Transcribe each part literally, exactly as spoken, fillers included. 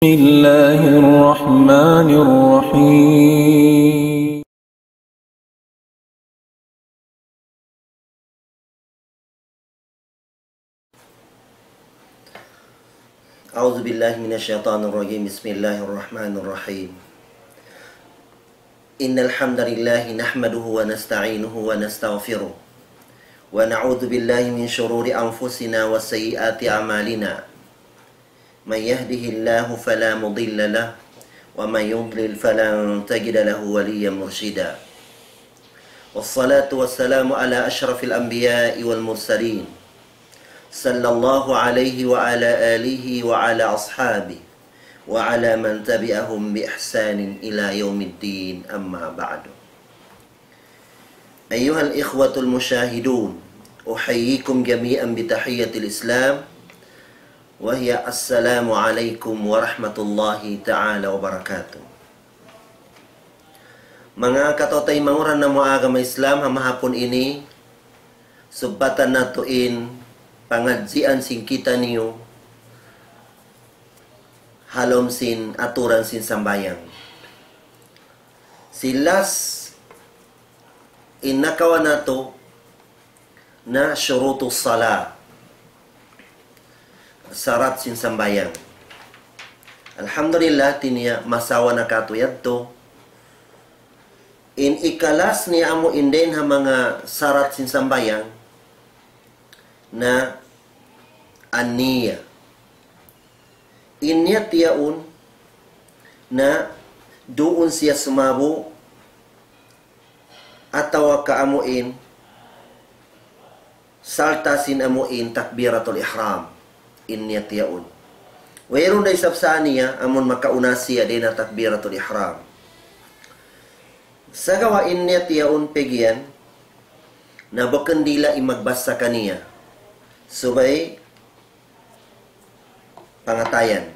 بسم الله الرحمن الرحيم. أعوذ بالله من الشيطان الرجيم. بسم الله الرحمن الرحيم. إن الحمد لله نحمده ونستعينه ونستغفره، ونعوذ بالله من شرور أنفسنا وسيئات أعمالنا. من يهده الله فلا مضل له، ومن يضلل فلن تجد له وليا مرشدا. والصلاة والسلام على أشرف الأنبياء والمرسلين، صلى الله عليه وعلى آله وعلى أصحابه وعلى من تبعهم بإحسان إلى يوم الدين، أما بعد. أيها الإخوة المشاهدون، أحييكم جميعا بتحية الإسلام، وهي السلام عليكم ورحمة الله تعالى وبركاته. Manga kataw-taymanghuran namu' agama Islam, ha mahapun ini, subbatan natu' in pangadjian sin kitaniyu, ha lawm sin aturan sin sambahayang. Sin last, in nakawa' natu' na shurutus salah, sarat sin sambahayang. Alhamdulillah, hati niya masawa na katu' yadtu. In ika-last niya amu in dayn ha manga sarat sin sambahayang na an-niyya. In niyat yaun na duun siya sumabu atawa ka amu in sarta' sin amu in takbiratul ihram. In niyat yaun. Wayruun da isab sa niya amun makauna siya dayn ha takbiratul ihram. Sagawa' in niyat yaun piyagiyan na bukun dila in magbasa kaniya. Subay pangatayan.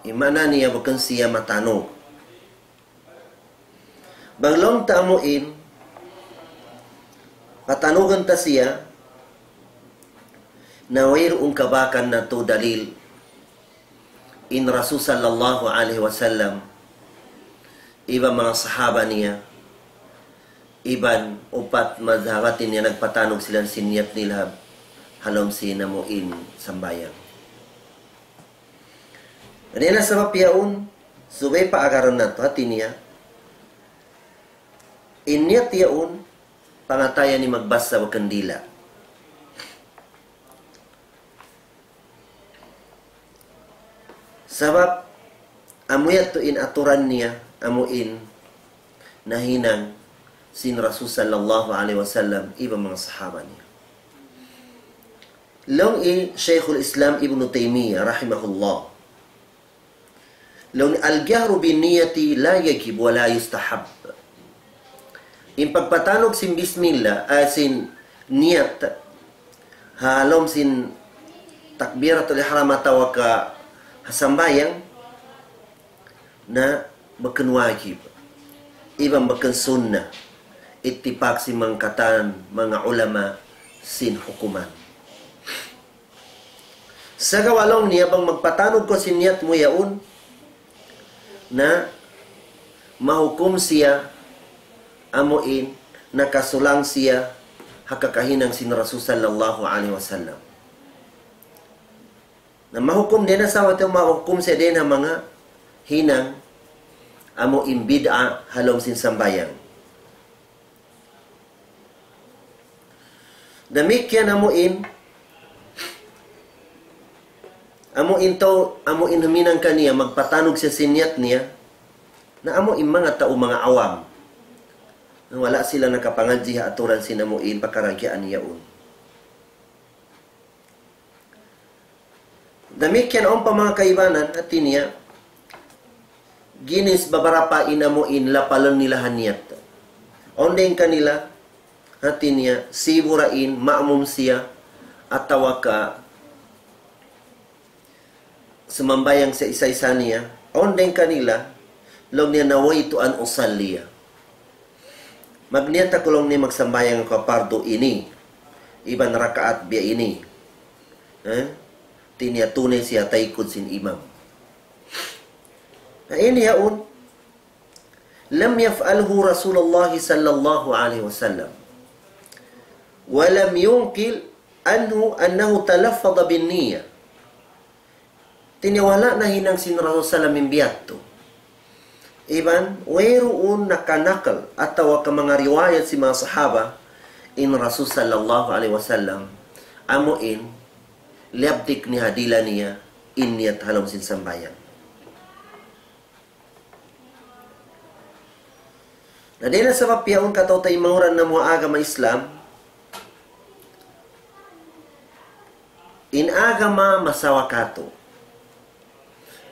In maana niya bukun siya matanug. Bang laung ta amu in, patanugun ta siya, na wayruun kabakan natu' dalil in Rasul sallallahu alayhi wasallam, iban manga sahaba niya, iban upat madhhab niya nagpatanug sila sin niyat nila ha lawm sin amu in sambahayang. Dayn ha sabab yaun, subay paagaran natu', hati niya, in niyat yaun, pangatayan in magbasa bukun dila. Sabab, amu yadtu in aturan niya, amu in nahinang sin Rasul sallallahu alayhi wasallam, iban manga sahaba niya. Laung hi Shaykhul Islam Ibn Taymiyyah rahimahullah, laung niya, الجهر بالنية لا يجب ولا يستحب. In pagpatanug sin bismillah, ah, sin niyat, ha lawm sin takbiratul ihram atawa ka ha sambahayang, na bukun wajib, iban bukun sunnah, ittipak sin manga katan manga ulama sin hukuman. Sagawa' laung niya bang magpatanug kaw sin niyat mu yaun, na mahukum siya amu in nakasulang siya ha kakahinang sin Rasul sallallahu alayhi wasallam. Na mahukum dayn ha sawat, mahukum siya dayn ha manga hinang amu in bid'a ha lawm sin sambahayang. Damikkiyan amu in, amu in tau, amu in huminang kaniya, magpatanug siya sin niyat niya, na amu in manga tau, manga awam. Na wala' sila nakapangadji' ha aturan sin amu in pakaragyaan yaun. Damikkiyan awn pa manga kaibanan, hati niya, ginis babarapa in amu in lapalun nila ha niyat. Awn dayn kanila, hati niya, sibu' ra in, ma'mum siya, atawa ka sumambahayang siya isa-isa niya. Awn dayn kanila, laung niya, نويت أن أصلي. Magniyat aku laung niya magsambahayang aku pardu ini, iban rakaat biya' ini. Eh? Hati niya tunay siya taykud sin imam. Na ini yaun, لم يفعله رسول الله صلى الله عليه وسلم، ولم ينقل عنه أنه تلفظ بالنية. Hati niya wala' nahinang sin Rasul sallam in biya' yadtu. Iban, wayruun nakanakal atawa ka manga riwayat sin manga sahaba, in Rasul sallallahu alayhi wasallam, amu in, liyabtik niya ha dila niya, in niyat ha lawm sin sambahayang. Na dayn ha sabab yaun kataw-taymanghuran namu' agama Islam, in agama masawa katu'.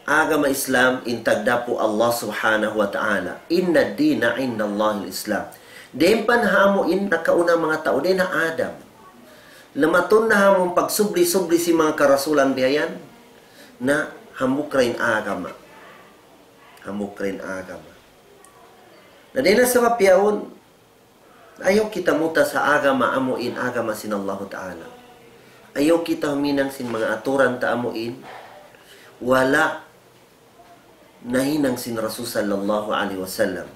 Agama Islam in tagdapu Allah Subhanahu wa Ta'ala. إن الدين عند الله الإسلام. Dayn pa ha amu in nakauna manga tau, dayn ha Adam. Lamatun na ha amu in pagsubli-subli sin manga karasulan biya' yan, na hambuuk ra in agama. Hambuuk ra in agama. Na dayn ha sabab yaun, ayaw kita mutas ha agama amu in agama sin Allahu Ta'ala. Ayaw kita huminang sin manga aturan ta amu in wala' nahinang sin Rasul sallallahu alayhi wasallam.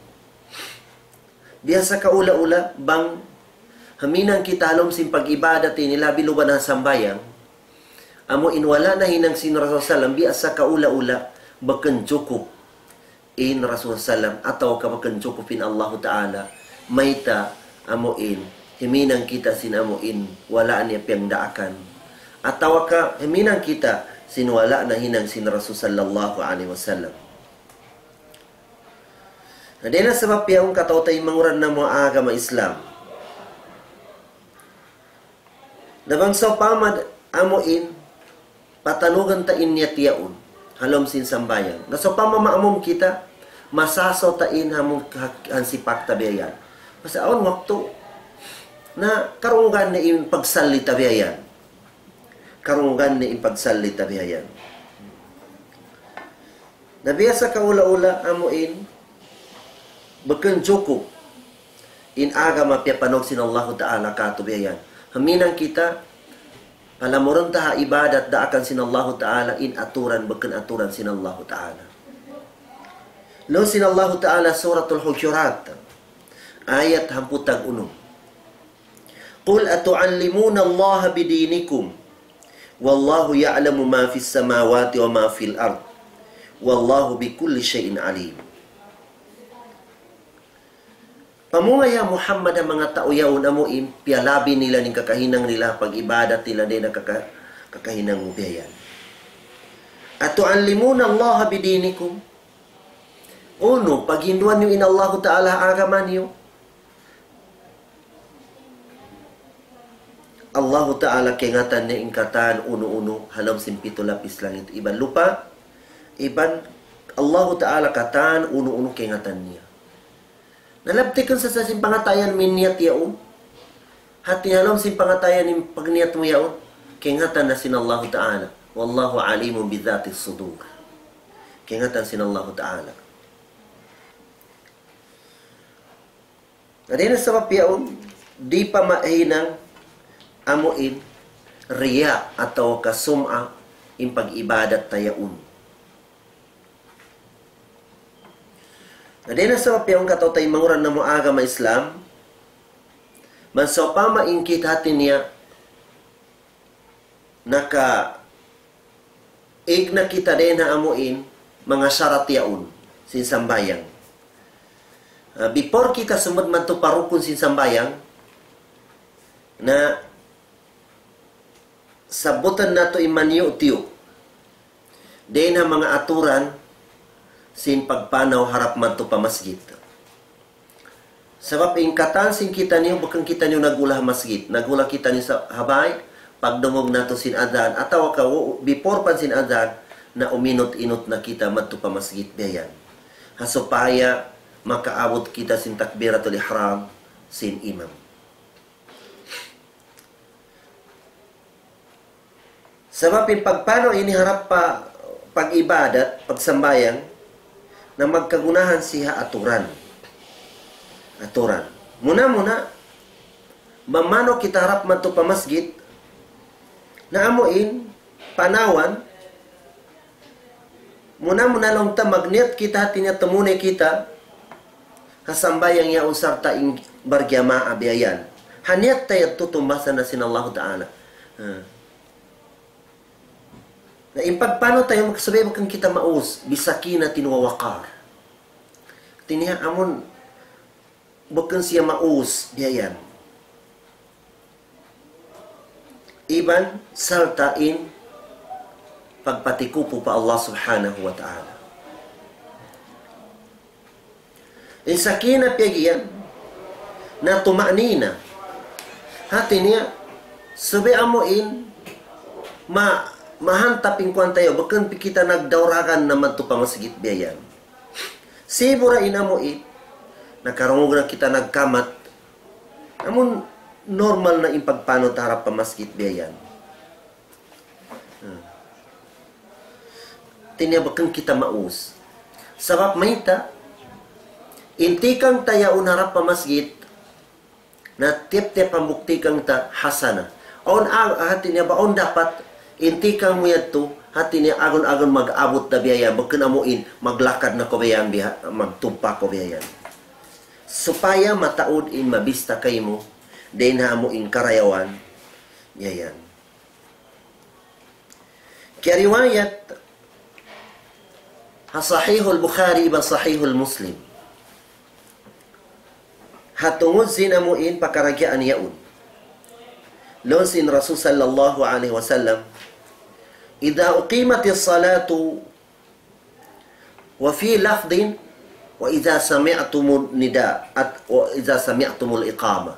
Biya' sa kaula-ula, bang huminang kita ha lawm sin pag-ibadat ini, labi luba na sambahayang, amu in wala' nahinang sin Rasul sallam, biya' sa kaula-ula, bukun jukup in Rasul sallam, atawa ka bukun jukup in Allahu Ta'ala, mayta' amu in, huminang kita sin amu in, wala' niya piyagdaakan. Atawa ka, huminang kita sin wala' nahinang sin Rasul sallallahu alayhi wasallam. Na dayn ha sabab yaun kataw-taymanghuran namu' agama Islam. Na bang sawpama amu in, patanugan ta in niyat yaun, ha lawm sin sambahayang. Na sawpama maamum kita, masasaw ta in ha mung ha-, hansipak ta biya' yan. Masa awn waktu, na karungugan na in pagsalli ta biya' yan. Karungugan na in pagsalli ta biya' yan. Na biya' sa kaula-ula amu in, bukun jukup in agama piyapanug sin Allahu Ta'ala katu' biya' yan. Huminang kita, palamurun ta ha ibadat daakan sin Allahu Ta'ala, in aturan, bukun aturan sin Allahu Ta'ala. Laung sin Allahu Ta'ala, Suratul Hujurat, ayat hangpu' tag unum. قل أتعلمون الله بدينكم والله يعلم ما في السماوات وما في الأرض والله بكل شيء عليم. Pamung ya Muhammad ha manga tau yaun amu in, piyalabi nila in kakahinang nila, pag-ibadat nila, dayn ha kaka-, kakahinang mu biya' yan. أتعلمون الله بدينكم. Unu, paghinduan niyu in Allahu Ta'ala ha agama niyu. Allahu Ta'ala kaingatan niya in katan unu-unu ha lawm sin pitu lapis langit iban lupa', iban Allahu Ta'ala katan unu-unu kaingatan niya. Na labtikun sa sin pangatayan mu in niyat yaun. Hati ha lawm sin pangatayan in pagniyat mu yaun, kaingatan na sin Allahu Ta'ala. والله عليم بذات الصدور. Kaingatan sin Allahu Ta'ala. Na dayn ha sabab yaun, di' pa mahinang amu in riya' atawa ka sum'a in pag-ibadat ta yaun. Na dayn ha sabab yaun kataw-taymanghuran namu' agama Islam, bang sawpama in kita hati niya naka-, igna kita dayn ha amu in manga sharat yaun sin sambahayang. Ah, before kita sumud madtu pa rukun sin sambahayang, na sabbutan natu' in maniyu'-tiyu' dayn ha manga aturan sin pagpanaw harap madtu pa masjid. Sabab in katan sin kitaniyu, bukun kitaniyu nag-ula ha masjid. Nag-ula kitaniyu sa ha bay, pagdungug natu' sin adhan, atawa ka, before pa sin adhan, na uminut-inut na kita madtu pa masjid biya' yan. Ha supaya makaabut kita sin takbiratul ihram sin imam. Sabab in pagpanaw ini harap pa pag-ibadat, pagsambahayang, na magkagunahan siya aturan. Aturan. Muna-muna, mamanaw kita harap madtu pa masjid, na amu in panawan, Muna-muna laung ta magniyat kita, hati niya tumunay kita ha sambahayang yaun sarta' in barjamaah biya' yan. Ha niyat ta yadtu tumbasan na sin Allahu Ta'ala. Ha. Na in pagpanaw ta yaun, subay bukun kita maus, bisakinatin wa waqar. Hati niya amun bukun siya maus biya' yan. Iban sarta' in pagpatikupu pa Allah Subhanahu wa Ta'ala. In sakinah piyag'iyan na tuma'nina. Hati niya, subay amu in ma-, mahantap in kuwan ta yaun, bukun pi kita nagdauragan na madtu pa masjid biya' yan. Sibu' ra in amu in, nakarungug na kita nagkamat. Amun normal na in pagpanaw ta harap pa masjid biya' yan. Hmm. Hati niya bukun kita maus. Sabab mayta', in tikang ta yaun harap pa masjid, na tiyap-tiyap hambuuk tikang ta hasanah. Awn ag-, hati niya ba, awn dapat, in tikang mu yadtu, hati niya agun-agun mag-abut da biya' yan, bukun amu in, maglakad na kaw biya' yan, biya', magtumpa kaw biya' yan. Supaya mataud in mabista kaymu, dayn ha amu in karayawan, biya' yan. Kiyariwayat ha Sahihul Bukhari iban Sahihul Muslim. Ha tungud sin amu in pakaragyaan yaun. Laung sin Rasul sallallahu alayhi wasallam, إذا أقيمت الصلاة وفي لفظ وإذا سمعتم النداء at-, وإذا سمعتم الإقامة.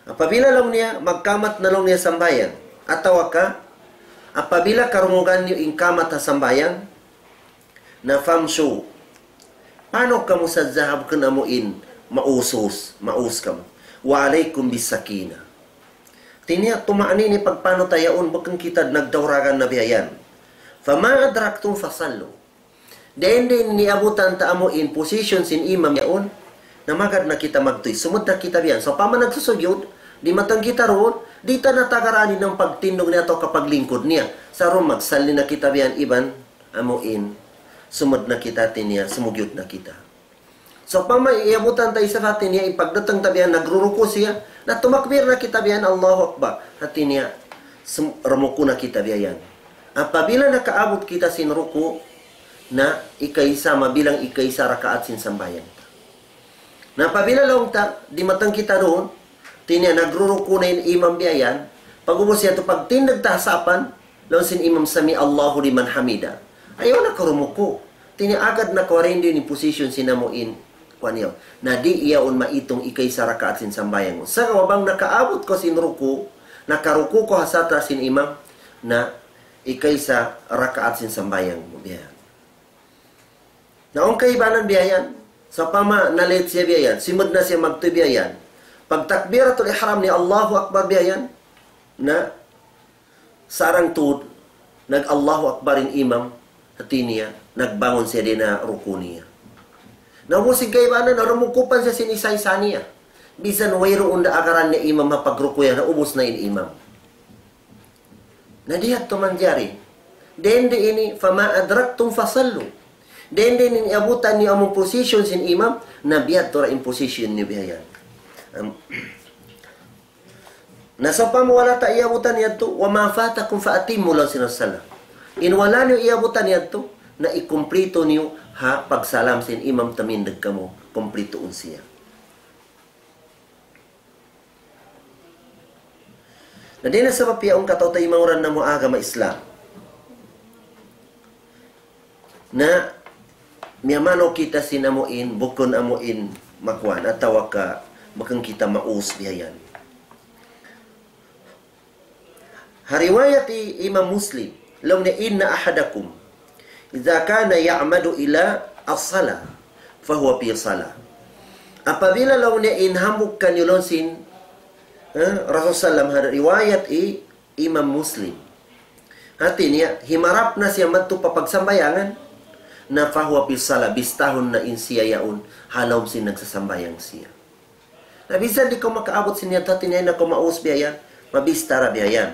Apabila laung niya, magkamat na laung niya sambahayang. Atawa ka, apabila karungugan niyu in kamat ha sambahayang, na famshu. Panaw kamu sadja ha bukun amu in maus-us, maus kamu. وعليكم بالسكينة. Hati niya, tuma'nina in pagpanaw ta yaun, bukun kita nagdauragan na biya' yan. فما أدركتم فصلوا. Dayn di' niyabutan ta amu in position sin imam yaun, na magad na kita magtuy. Sumud na kita biya' yan. Sawpama nagsusugyud, dimatang kita duun, di' ta na tagarani in pagtindug niya atawa ka paglingkud niya. Sa' duun magsalli na kita biya' yan iban, amu in, sumud na kita, hati niya, sumugyud na kita. Sawpama iyabutan ta isab, hati niya, in pagdatang ta biya' yan, nagruruku' siya, na tumakbir na kita biya' yan, Allahu Akbar. Hati niya, sum-, rumuku' na kita biya' yan. Apabila nakaabut kita sin ruku', na ikaisa, mabilang ikaisa rakaat sin sambahayang ta. Na apabila laung ta, dimatang kita duun, hati niya nagruruku' na in imam biya' yan, pag'ubus yadtu pagtindug ta ha sapan, laung sin imam سمع الله لمن حمده. Ayaw na kaw rumuku'. Hati niya agad na kaw dayn di in position sin amu in, kuwan yaun. Na di' yaun maitung ikaisa rakaat sin sambahayang mu. Sa' bang nakaabut kaw sin ruku', nakaruku' kaw ha satra sin imam, na ikaisa rakaat sin sambahayang mu biya' yan. Na awn kaibanan biya' yan. Sawpama na-late siya biya' yan, simud na siya magtuy biya' yan. Pagtakbiratul ihram niya, Allahu Akbar biya' yan. Na sarang tuud, nag-Allahu Akbar in imam, hati niya, nagbangun siya dayn ha ruku' niya. Na ubus in kaibanan, na rumuku' pa siya sin isa-isa niya. Bisan wayruun da agaran niya imam ha pagruku' yan, na ubus na in imam. Na di' yadtu manjari. Dayn di ini, فما أدركتم فصلوا. Dayn di ini, abutan niyu amu in position sin imam, na biya' yadtu ra in position niyu biya' yan. Am-, na sawpama wala' ta iyabutan yadtu, وما فاتكم فأتموا, laung sin Rasulullah. In wala' niyu iyabutan yadtu, na ikumplitu niyu ha pagsalam sin imam, tumindug kamu, kumplituun siya. Na dayn ha sabab yaun, kataw-taymanghuran namu' agama Islam, na miyamanaw kita sin amu in, bukun amu in makuan, atawa ka bukun kita maus biya' yan. Ha riwayat hi Imam Muslim, laung niya, إن أحدكم إذا كان يعمد إلى الصلاة فهو في صلاة. Apabila laung niya in hambuuk kaniyu laung sin, eh, Rasul sallam, ha riwayat hi Imam Muslim. Hati niya, himarap na siya madtu pa pagsambayangan, na فهو في صلاة, bistahun na in siya yaun, ha lawm sin nagsasambahayang siya. Na bisan di' kaw makaabut sin yadtu, hati niya, na kaw maus biya' yan, mabista ra biya' yan.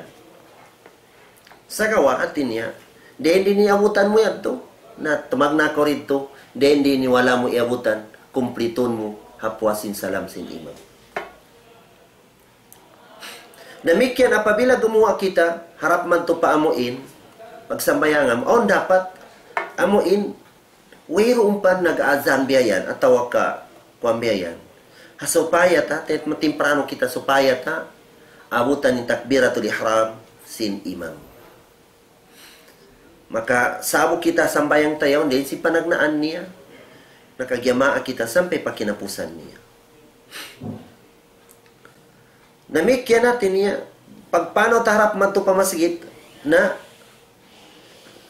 Sagawa', hati niya, dayn di' niya abutan mu yadtu, Na, tumagna' kaw didtu, dayn di ini wala' mu iyabutan, kumplitun mu ha puas sin salam sin imam. Damikkiyan apabila gumuwa' kita, harap madtu pa amuin, pagsambahayang amu, awn dapat, amuin, wayruun pa nag-azan biya' yan, atawa ka, kuwan biya' yan. Ha supaya ta, tet matimprano kita supaya ta, abutan in takbiratul ihram sin imam. Maka sa'bu kita sambahayang ta yaun, dayn sin panagnaan niya, nakajamaa kita sampay pa kinapusan niya. Damikkiyan hati niya, pagpanaw ta harap madtu pa masjid, na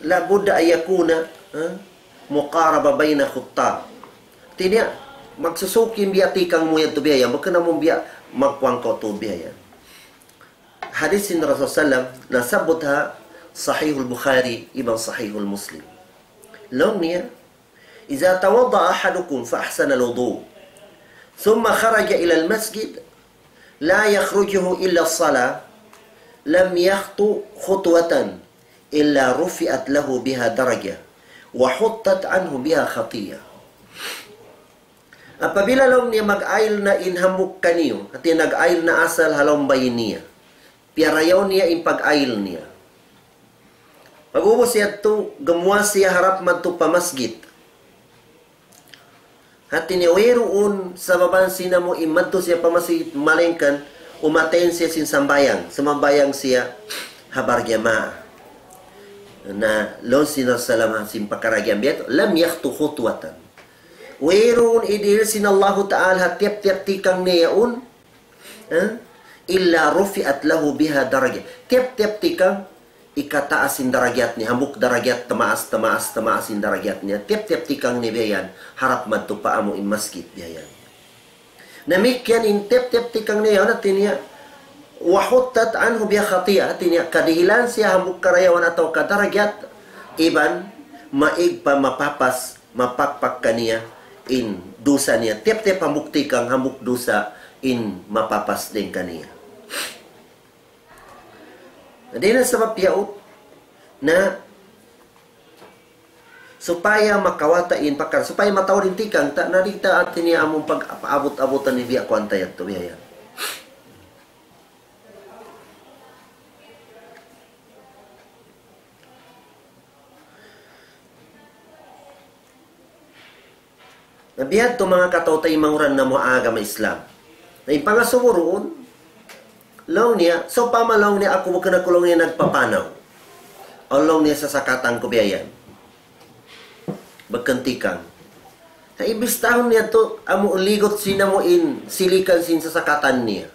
la budda an yakuna, ha, muqaraba bayna khuttah. Hati niya, magsusuki in biya' tikang mu yadtu biya' yan, bukun amu in biya' magkuwang kaw tu biya' yan. Hadis sin Rasul sallam, nasabbut ha Sahihul Bukhari iban Sahihul Muslim. Laung niya, إذا توضأ أحدكم فأحسن الوضوء ثم خرج إلى المسجد لا يخرجه إلا الصلاة لم يخط خطوة إلا رفعت له بها درجة وحطت عنه بها خطيئة. Apabila laung niya mag-ayil na in hambuuk kaniyu, hati nag-ayil na asal ha lawm bay niya. Piyarayaw niya in pag-ayil niya. Pag'ubus yadtu, gumuwa' siya harap madtu pa masjid. Hati niya wayruun sababan sin amu in madtu siya pa masjid, malayngkan umaten siya sin sambahayang, sumambahayang siya ha barjamaa. Na, laung sin Rasul sallam sin pakaradjaan biya' yadtu, لم يخط خطوة. Wayruun idihil sin Allahu Ta'ala ha tiyap-tiyap tikang niya yaun, ha? إلا رفعت له بها درجة. Tiyap-tiyap tikang, ikataas in darajat niya, hambuuk darajat, tamaas, tamaas, tamaas in darajat niya. Tiyap-tiyap tikang niya biya' yan, harap madtu pa amu in masjid biya' yan. Damikkiyan in tiyap-tiyap tikang niya yaun, hati niya, وحطت عنه بها خطيئة, hati niya, kadihilan siya hambuuk karayawan atawa ka darajat, iban maig pa mapapas, mapakpak kaniya in dusa niya. Tiyap-tiyap hambuuk tikang, hambuuk dusa in mapapas dayn kaniya. Dayn ha sabab yaun, na supaya makawa' ta in pakar, supaya mataud in tikang ta, na di' ta hati niya amun pag-abut-abutan in biya' kuwan ta yadtu, biya' yan. Na biya' yadtu manga kataw-taymanghuran namu' ha agama Islam. Na in pangasubu duun, laung niya, sawpama laung niya aku bukun aku laung niya nagpapanaw. Awn laung niya sasakatan ku biya' yan. Bukun tikang. Na imbis tahun niya tu, amu ligut sin amu in silikan sin sasakatan niya.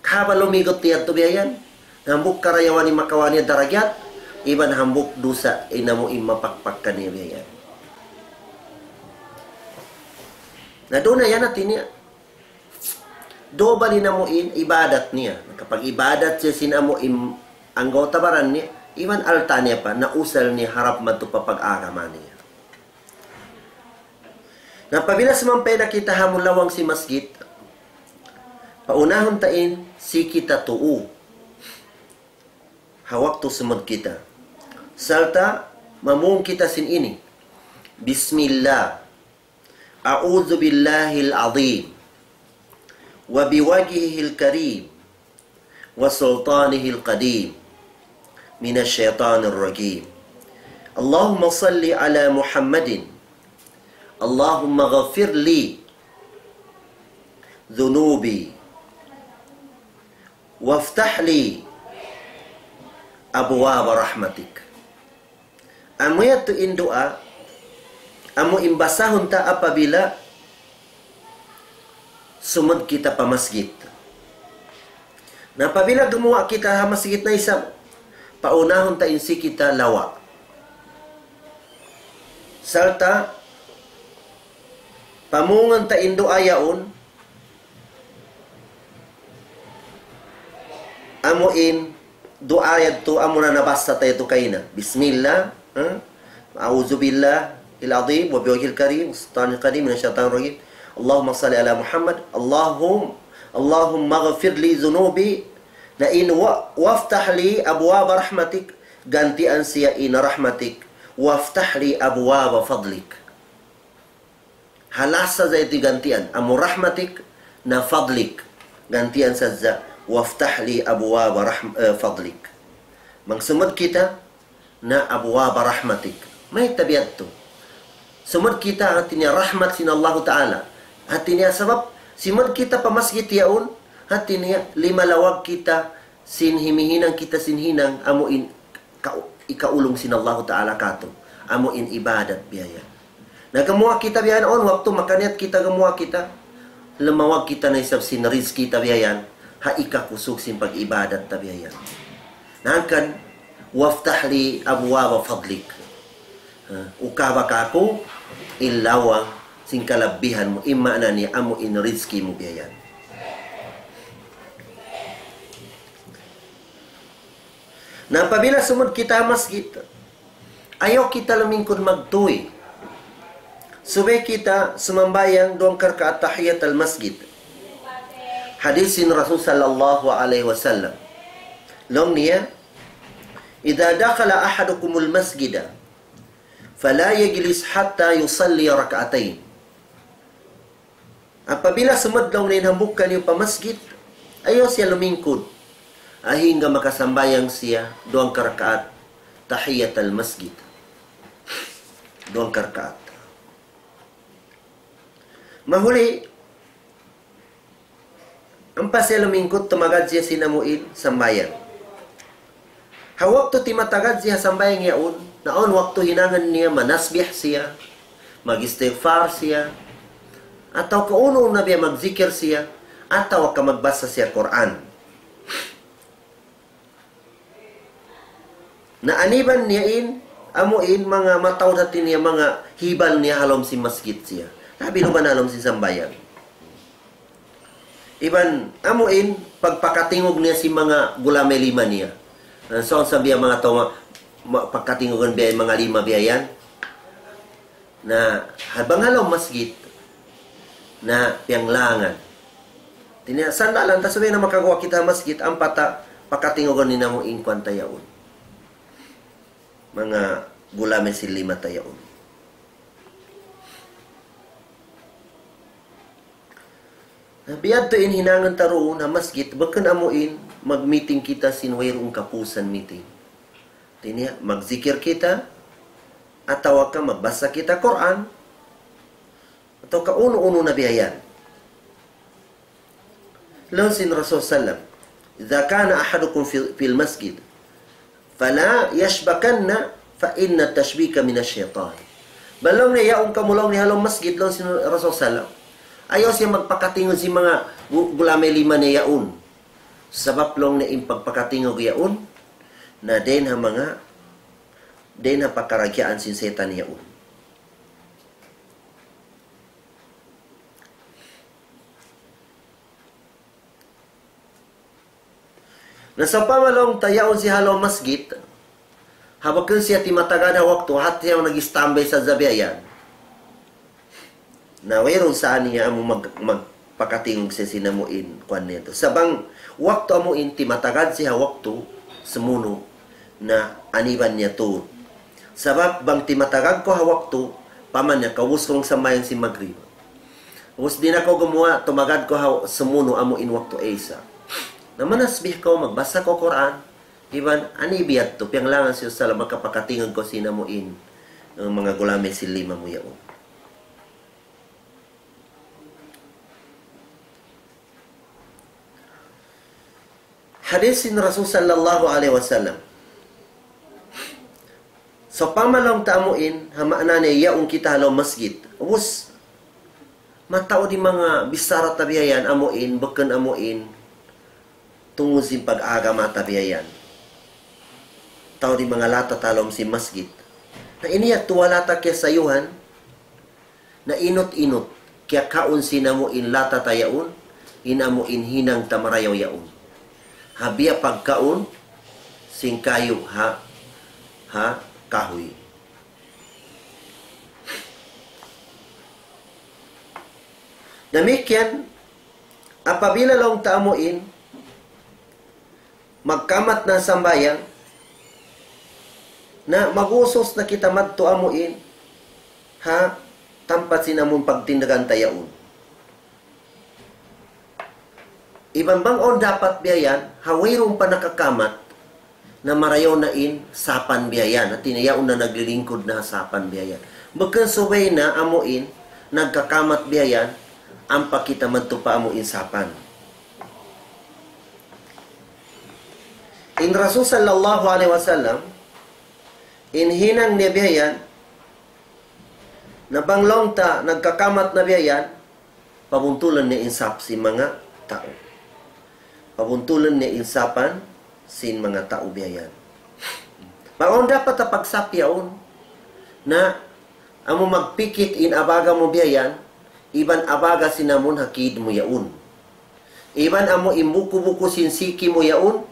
Kahaba' lumigut niya tu biya' yan. Hambuuk karayawan in makawa' niya darajat, iban hambuuk dusa in amu in mapakpak kaniya biya' yan. Na duun na yan hati niya. Duun ba in amu in ibadat niya. Nakapag-ibadat siya sin amu in anggawta' baran niya, iban alta' niya pa, nausal niya harap madtu pa pag-agama niya. Na apabila sumampay na kita ha amun lawang sin masjid, paunahun ta in siki ta tuu ha waktu sumud kita. Sarta' mamung kita sin ini. بسم الله. أعوذ بالله العظيم وبوجهه الكريم وسلطانه القديم من الشيطان الرجيم. اللهم صل على محمد. اللهم اغفر لي ذنوبي وافتح لي أبواب رحمتك. Amu yadtu in duwaa, amu in basahun ta apabila sumud kita pa masjid. Na apabila gumuwa' kita ha masjid na isab, paunahun ta in siki ta lawa'. Sarta' pamungan ta in duwaa yaun, amu in duwaa yadtu amuna nabasa ta yadtu kaina. بسم الله, ha? أعوذ بالله العظيم وبوجهه الكريم وسلطانه القديم من الشيطان الرجيم. اللهم صل على محمد. اللهم، اللهم اغفر لي ذنوبي. Na in wa-, وافتح لي أبواب رحمتك, gantian siya in رحمتك. وافتح لي أبواب فضلك. Halas sadja itu gantian. Amu rahmatik na fadlik. Gantian sadja. وافتح لي أبواب رحم-, eh, فضلك. Magsumud kita na أبواب رحمتك. Mayta' biya' yadtu? Sumud kita hati niya rahmat sin Allahu Ta'ala. Hati niya sabab, simud kita pa masjid yaun, hati niya limalawag kita sin himihinang kita sin hinang amu in ka-, ikaulung sin Allahu Ta'ala katu', amu in ibadat biya' yan. Na gamuwa' kita biya' yan, awn waktu makaniyat kita gamuwa' kita, limawag kita na isab sin rizki ta biya' yan, ha ikakusug sin pag-ibadat ta biya' yan. Na hangkan, وافتح لي أبواب فضلك. Ha, ukaba kaku' in lawang sin kalabbihan mu, in maana niya amu in rizki mu biya' yan. Na apabila sumud kita ha masjid, ayaw kita lumingkud magtuy. Subay kita sumambahayang duwang karkaat tahiyat al-masjid. Hadis sin Rasul sallallahu alayhi wasallam. Laung niya, إذا دخل أحدكم المسجد فلا يجلس حتى يصلي ركعتين. Apabila sumud laung niya in hambuuk kaniyu pa masjid, ayaw siya lumingkud. Hangga makasambahayang siya duwang karkaat tahiyat al-masjid. Duwang karkaat. Mahuli, ampa siya lumingkud, tumagad siya sin amu in sambahayang. Ha waktu timatagad siya sambahayang yaun, na awn waktu hinangun niya manasbih siya, mag-istighfar siya, atawa ka unu-unu na biya' magjikil siya, atawa ka magbasa siya Qur'an. Na aniban niya in, amu in manga mataud hati niya manga hibal niya ha lawm sin masjid siya. Labi na ba ha lawm sin sambahayang. Iban amu in pagpakatingug niya sin manga gulamay lima niya. Ah, so, sabi ang manga tau, ma-, ma-, pagkatingugan biya' in manga lima biya' yan. Na, ha bang ha lawm masjid, na piyanglangan. Hati niya, sandalan ta subay na makaguwa' kita ha masjid, ampa ta pakatingugan in amu in kuwan ta yaun. Manga gulamay sin lima ta yaun. Na biya' yadtu in hinangun ta duun ha masjid, bukun amu in mag-meeting kita sin wayruun kapusan meeting. Hati niya, magjikil kita, atawa ka magbasa kita Qur'an, atawa ka unu-unu na biya' yan. Laung sin Rasul sallam, إذا كان أحدكم في، في المسجد فلا يشبكن فإن التشبيك من الشيطان. Bang laung niya yaun kamu laung niya ha lawm masjid, laung sin Rasul sallam, ayaw siya magpakatingug sin manga gu-, gulamay lima niya yaun. Sabab laung niya in pagpakatingug yaun, na dayn ha manga, dayn ha pakaragyaan sin saytan yaun. Na sawpama laung ta yaun siya ha lawm masjid, ha bukun siya timatagad ha waktu, hati siya nag-standby sadja biya' yan. Na wayruun sa niya amu mag-, magpakatingug siya sin amu in kuwan niya tu. Sa' bang waktu amu in timatagad siya ha waktu, sumunu', na aniban niya tuud. Sabab bang timatagad kaw ha waktu, paman niya kaubus kaw sambahayang sin magrib. Ubus di' na kaw gumuwa', tumagad kaw ha sumunu' amu in waktu Isa. Na manasbih kaw, magbasa kaw Qur'an, iban ani biya' yadtu, piyanglangan sin Rasul sallam, makapakatingug kaw sin amu in, eh, manga gulamay sin lima mu yaun. Hadis sin Rasul sallallahu alayhi wasallam. Sawpama laung ta amu in, ha maana niya yaun kita ha lawm masjid. Ubus, mataud in manga bichara ta biya' yan, amu in, bukun amu in, tungud sin pag-agama ta biya' yan. Taud in manga lata ta ha lawm sin masjid. Na ini yadtu wala' ta kiyasayuhan, na inut-inut, kiyakaun sin amu in lata ta yaun, in amu in hinang ta marayaw yaun. Ha biya' pagkaun sin kayu ha, ha kahuy. Damikkiyan, apabila laung ta amu in, magkamat na sambahayang, Na mag-usus na kita madtu amuin ha tampat sin amun pagtindagan ta yaun. Iban bang awn dapat biya' yan, ha wayruun pa nakakamat, na marayaw na in sapan biya' yan. Hati niya yaun na naglilingkud na ha sapan biya' yan. Bukun subay na amuin nagkakamat biya' yan, ampa kita madtu pa amuin sapan. In Rasul sallallahu alayhi wasallam, in hinang niya biya' yan, na bang laung ta nagkakamat na biya' yan, pabuntulan niya in sap sin manga tau. Pabuntulan niya in sapan sin manga tau biya' yan. Bang awn dapat ta pagsap yaun, na amu magpikit in abaga mu biya' yan, iban abaga sin amun ha kid mu yaun. Iban amu in buku-buku sin siki mu yaun,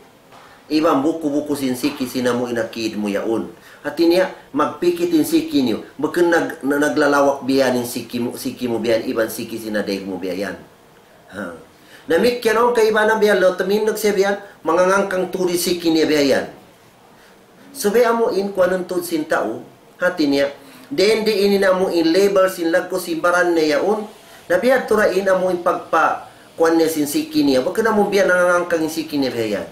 iban buku-buku sin siki sin amu in ha kid mu yaun. Hati niya, magpikit in siki niyu. Bukun nag-, na-, naglalawak biya' yan in siki mu, siki mu biya' yan, iban siki sin ha daig mu biya' yan. Ha. Damikkiyan awn kaibanan biya' yan, laung ta tumindug siya biya' yan, mangangangkang tuud in siki niya biya' yan. Subay amu in kuanun tuud sin tau, hati niya, dindi ini na amu in level sin laggu' sin baran niya yaun, na biya' tuud ra in amu in pagpa-, kuan niya sin siki niya, bukun amu biya' nangangangkang in siki niya biya' yan.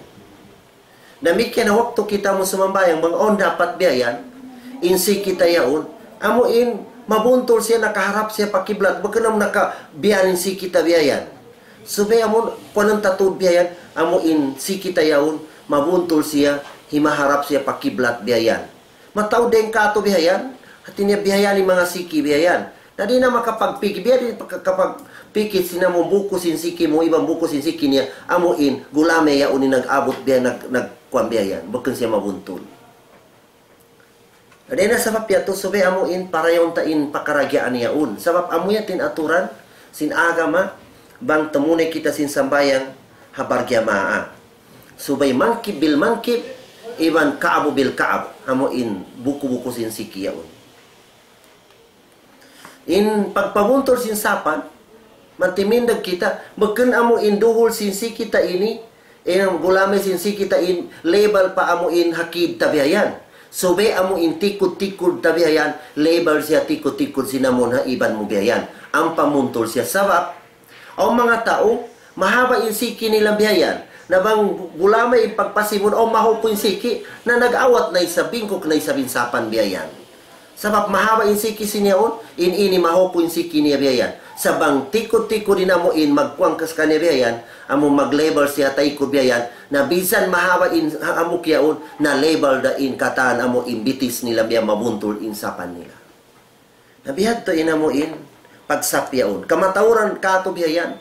Damikkiyan na waktu kita mu sumambahayang, bang awn dapat biya' yan, in siki ta yaun, amu in mabuntul siya, nakaharap siya pa kiblat, bukun amu naka-, biya' in siki ta biya' yan. Subay amu in kuanun ta tuud biya' yan, amu in siki ta yaun, mabuntul siya, himaharap siya pa kiblat biya' yan. Mataud dayn kātu' biya' yan, hati niya biya' yan in manga siki biya' yan. Na di' na makapagpikit, biya' diin pagka-, kapagpikit sin amu buku sin siki mu, iban buku sin siki niya, amu in, gulami yaun in nag-abut biya', nag-, nagkuan biya' yan, bukun siya mabuntul. Dayn ha sabab yadtu subay amu in parayaw ta in pakaradjaan yaun. Sabab amu yadtu in aturan sin agama bang tumunay kita sin sambahayang ha barjamaa. Subay mankib bil mankib, iban ka'bu bil ka'b. Amu in buku-buku sin siki yaun. In pagpabuntul sin sapan, mantimindag kita, bukun amu in duhul sin siki ta ini, in gulami sin siki ta in level pa amu in ha kid ta biya' yan. Subay amu in tikud-tikud ta biya' yan, level siya tikud-tikud sin amu in ha iban mu biya' yan. Ampa muntul siya sabab, awn manga tau, mahaba' in siki nila biya' yan. Na bang gulami in pagpasibun, awn mahupu' in siki, na nag-awat na isab, bingkuk na isab in sapan biya' yan. Sabab mahaba' in siki sin yaun, in ini mahupu' in siki niya biya' yan. Sa' bang tikud-tikud in amu in magkuan kas kaniya biya' yan, amu mag-level siya taykud biya' yan, na bisan mahaba' in ha-, hambuuk yaun, na level da in katan amu in bitis nila biya' mabuntul in sapan nila. Na biya' hadtu in amu in pagsap yaun. Kamatauran kātu' biya' yan.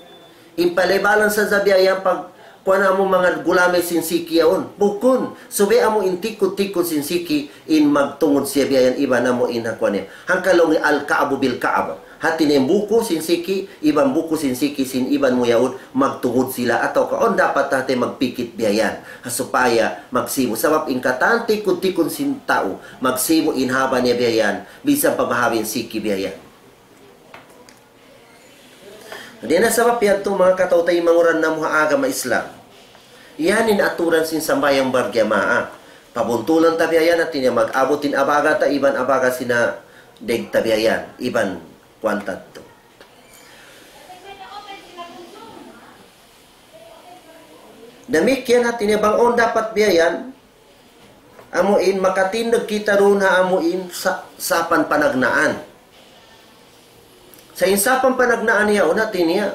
In palebalan sadja biya' yan pag kuwan amu manga gulami sin siki yaun. Bukun. Subay amu in tikud-tikud sin siki in magtungud siya biya' yan iban amu in ha kuwan niya. Hangkan laung niya al-ka'bu bil-ka'b. Hati niya in buku sin siki, iban buku sin siki sin iban mu yaun, magtungud sila atawa ka awn dapat hati magpikit biya' yan. Ha supaya magsibu'. Sabab in katan tikud-tikud sin tau, magsibu' in haba niya biya' yan, bisan pa mahaba' in siki biya' yan. Dayn ha sabab yadtu manga kataw-taymanghuran namu' ha agama Islam. Yan in aturan sin sambahayang barjamaa. Pabuntulan ta biya' yan, hati niya mag-abut in abaga ta, iban abaga sin ha daig ta biya' yan, iban kuwan ta yadtu. Damikkiyan hati niya bang awn dapat biya' yan, amu in makatindug kita duun ha amu in sa-, sapan panagnaan. Sa' in sapan panagnaan yaun hati niya,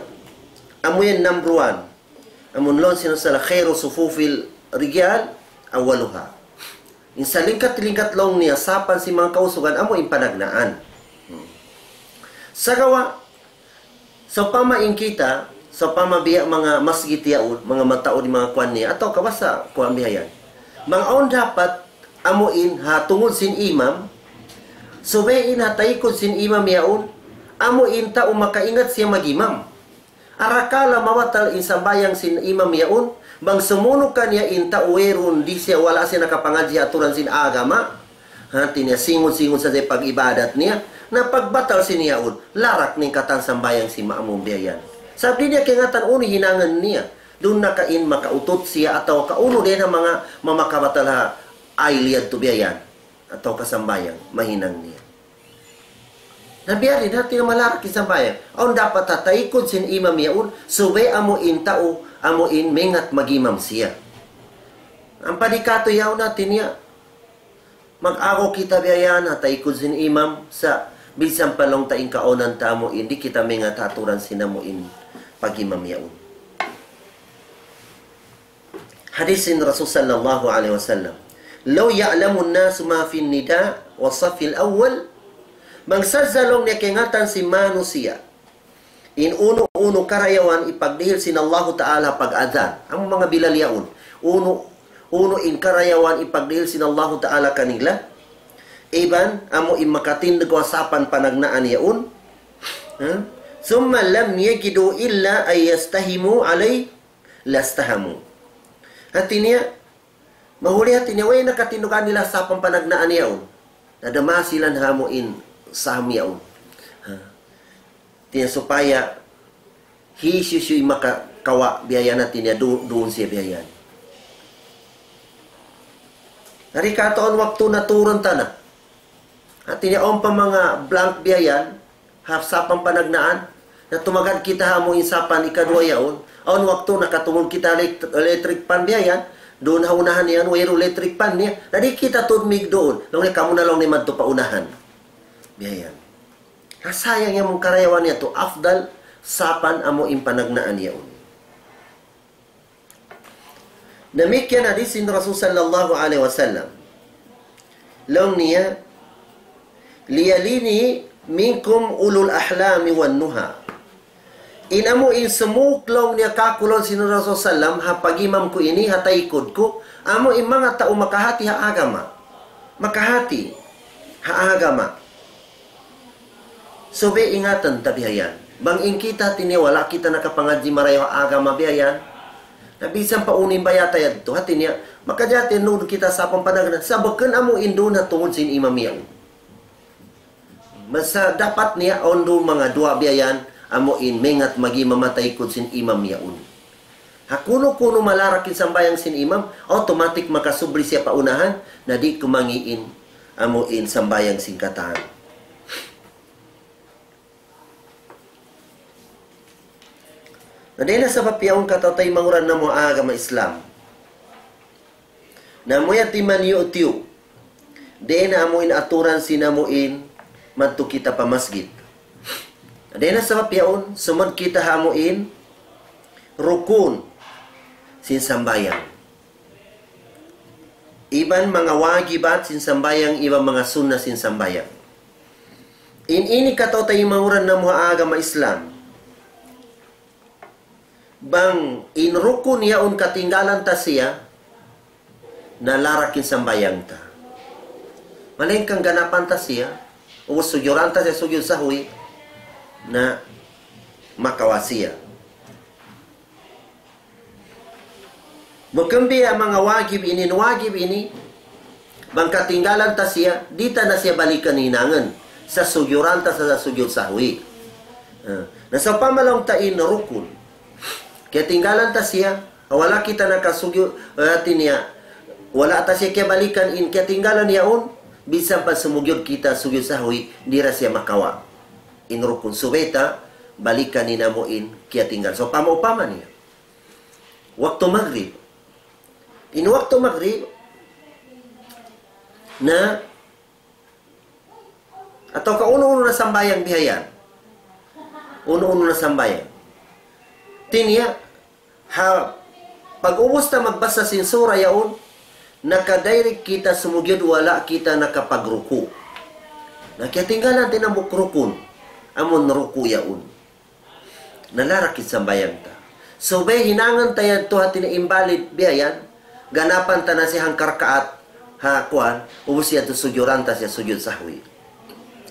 amu yan number one. Amun laung sin Rasul, "Khairu sufufil rijal awwaluha." In salingkat-lingkat laung niya, sapan sin manga kausugan, amu in panagnaan. Hmm. Sagawa', sawpama in kita, sawpama biya' manga masjid yaun, manga mataud in manga kuwan niya, atawa ka basta kuwan biya' yan. Bang awn dapat, amu in ha tungud sin imam, subay in ha taykud sin imam yaun, amu in tau makaingat siya mag-imam. Arakala' mabatal in sambahayang sin imam yaun, bang sumunu' kaniya in tau wayruun di' siya, wala' siya nakapangadji' aturan sin agama. Hati niya, singun-singun sadja pag-ibadat niya, na pagbatal sin yaun, larak na in katan sambahayang sin ma'mum biya' yan. Sabab di' niya kaingatan unu in hinangun niya, duun na ka in makautut siya atawa ka unu dayn ha manga mamakabatal ha ayl yadtu biya' yan. atawa kasambahayang, mahinang niya. Na biya' diin, hati niya malarak in sambahayang. Awn dapat ha taykud sin imam yaun, subay amu in tau, amu in maingat mag-imam siya. Ampa di' katu' yaun, hati niya, mag-agaw kita biya' yan, ha taykud sin imam, sa' minsan pa laung ta in kaawnan ta amu in, di' kita maingat ha aturan sin amu in pag-imam yaun. Hadis sin Rasul sallallahu alayhi wasallam, لو يعلم الناس ما في النداء والصف الأول, bang sadja laung niya kaingatan sin manusiya' in unu-unu karayawan ipagdihil sin Allahu Ta'ala pag-adhan. Amu manga Bilal yaun. Unu, unu in karayawan ipagdihil sin Allahu Ta'ala kanila. Iban, amu in makatindug ha sapan panagnaan yaun. Ha? ثم لم يجدوا إلا أن يستهموا عليه لاستهموا. Hati niya, mahuli hati niya, way nakatindug kanila sapan panagnaan yaun. Nadama sila ha amu in saham yaun. Ha. Hati niya supaya hisiyu-siyu in makakawa' biya' yan, hati niya du-, duun siya biya' yan. Di' katu' awn waktu na turun ta na. Hati niya awn pa manga blank biya' yan, ha sapan panagnaan, na tumagad kita ha amu in sapan ikaduwa yaun, awn waktu nakatungud kita elect-, electric fan biya' yan, duun ha unahan yan, wayruun electric fan niya, na di' kita tuud migduun, laung niya kamu na laung niya madtu pa unahan. Biya' yan. Nasayang in amu in karayawan niya tu, afdal sapan amu in panagnaan yaun. Damikkiyan hadis sin Rasul sallallahu alayhi wasallam. Laung niya, ليلني منكم أولو الأحلام والنهى. In amu in sumuk laung niya kāku' laung sin Rasul sallam, ha pag-imam ku ini, ha taykud ku, amu in manga tau makahati ha agama. Makahati ha agama. Subay ingatan ta biya' yan. Bang in kita hati niya wala' kita nakapangadji' marayaw ha agama biya' yan. Na bisan pa unu in bayta' yadtu hati niya, makajati nuud kita sapan panagnaan. Sa' bukun amu in duun ha tungud sin imam yaun. Basta dapat niya awn duun manga duwa biya' yan, amu in maingat mag-imam ha taykud sin imam yaun. Ha kunu-kunu malarak in sambahayang sin imam, automatic makasubli siya pa unahan, na di' kumangi' in, amu in sambahayang sin katan. Na dayn ha sabab yaun kataymanghuran namu' ha agama Islam. Na amu yadtu in manyu'-tiyu'. Dayn ha amu in aturan sin amu in madtu kita pa masjid. Dayn ha sabab yaun, sumud kita ha amu in rukun sin sambahayang. Iban manga wajibat sin sambahayang, iban manga sunnat sin sambahayang. In ini kataymanghuran namu' ha agama Islam. Bang in rukun yaun katinggalan ta siya, na larak in sambahayang ta. Malayngkan ganapan ta siya, ubus sujuran ta siya sujud sahwi, na makawa' siya. Bukun biya' manga wajib ini, in wajib ini, bang katinggalan ta siya, di' ta na siya balikan hinangun. Sa' sujuran ta sa, sa sujud sahwi. Ah, na sawpama laung ta in rukun. Katinggalan ta siya, wala' kita nakasujud, ah, hati niya, wala' ta siya kiyabalikan in katinggalan yaun, minsan pa sumujud kita sujud sahwi, di' da siya makawa' in rukun. Subay ta balikan in amu in katinggalan. Sawpama upama niya. Waktu magrib. In waktu magrib, na, atawa ka unu-unu na sambahayang bihayan. Unu-unu na sambahayang. Hati niya, ha, pag-ubus ta magbasa sin sura yaun, naka-direct kita sumujud wala' kita nakapagruku'. Na katinggalan ta in hambuuk rukun, amun ruku' yaun. Na larak in sambahayang ta. Subay hinangun ta yadtu hati niya invalid bihayan, ganapan ta na siya hangka rakaat, ha kuwan, ubus yadtu sujuran ta siya sujud sahwi.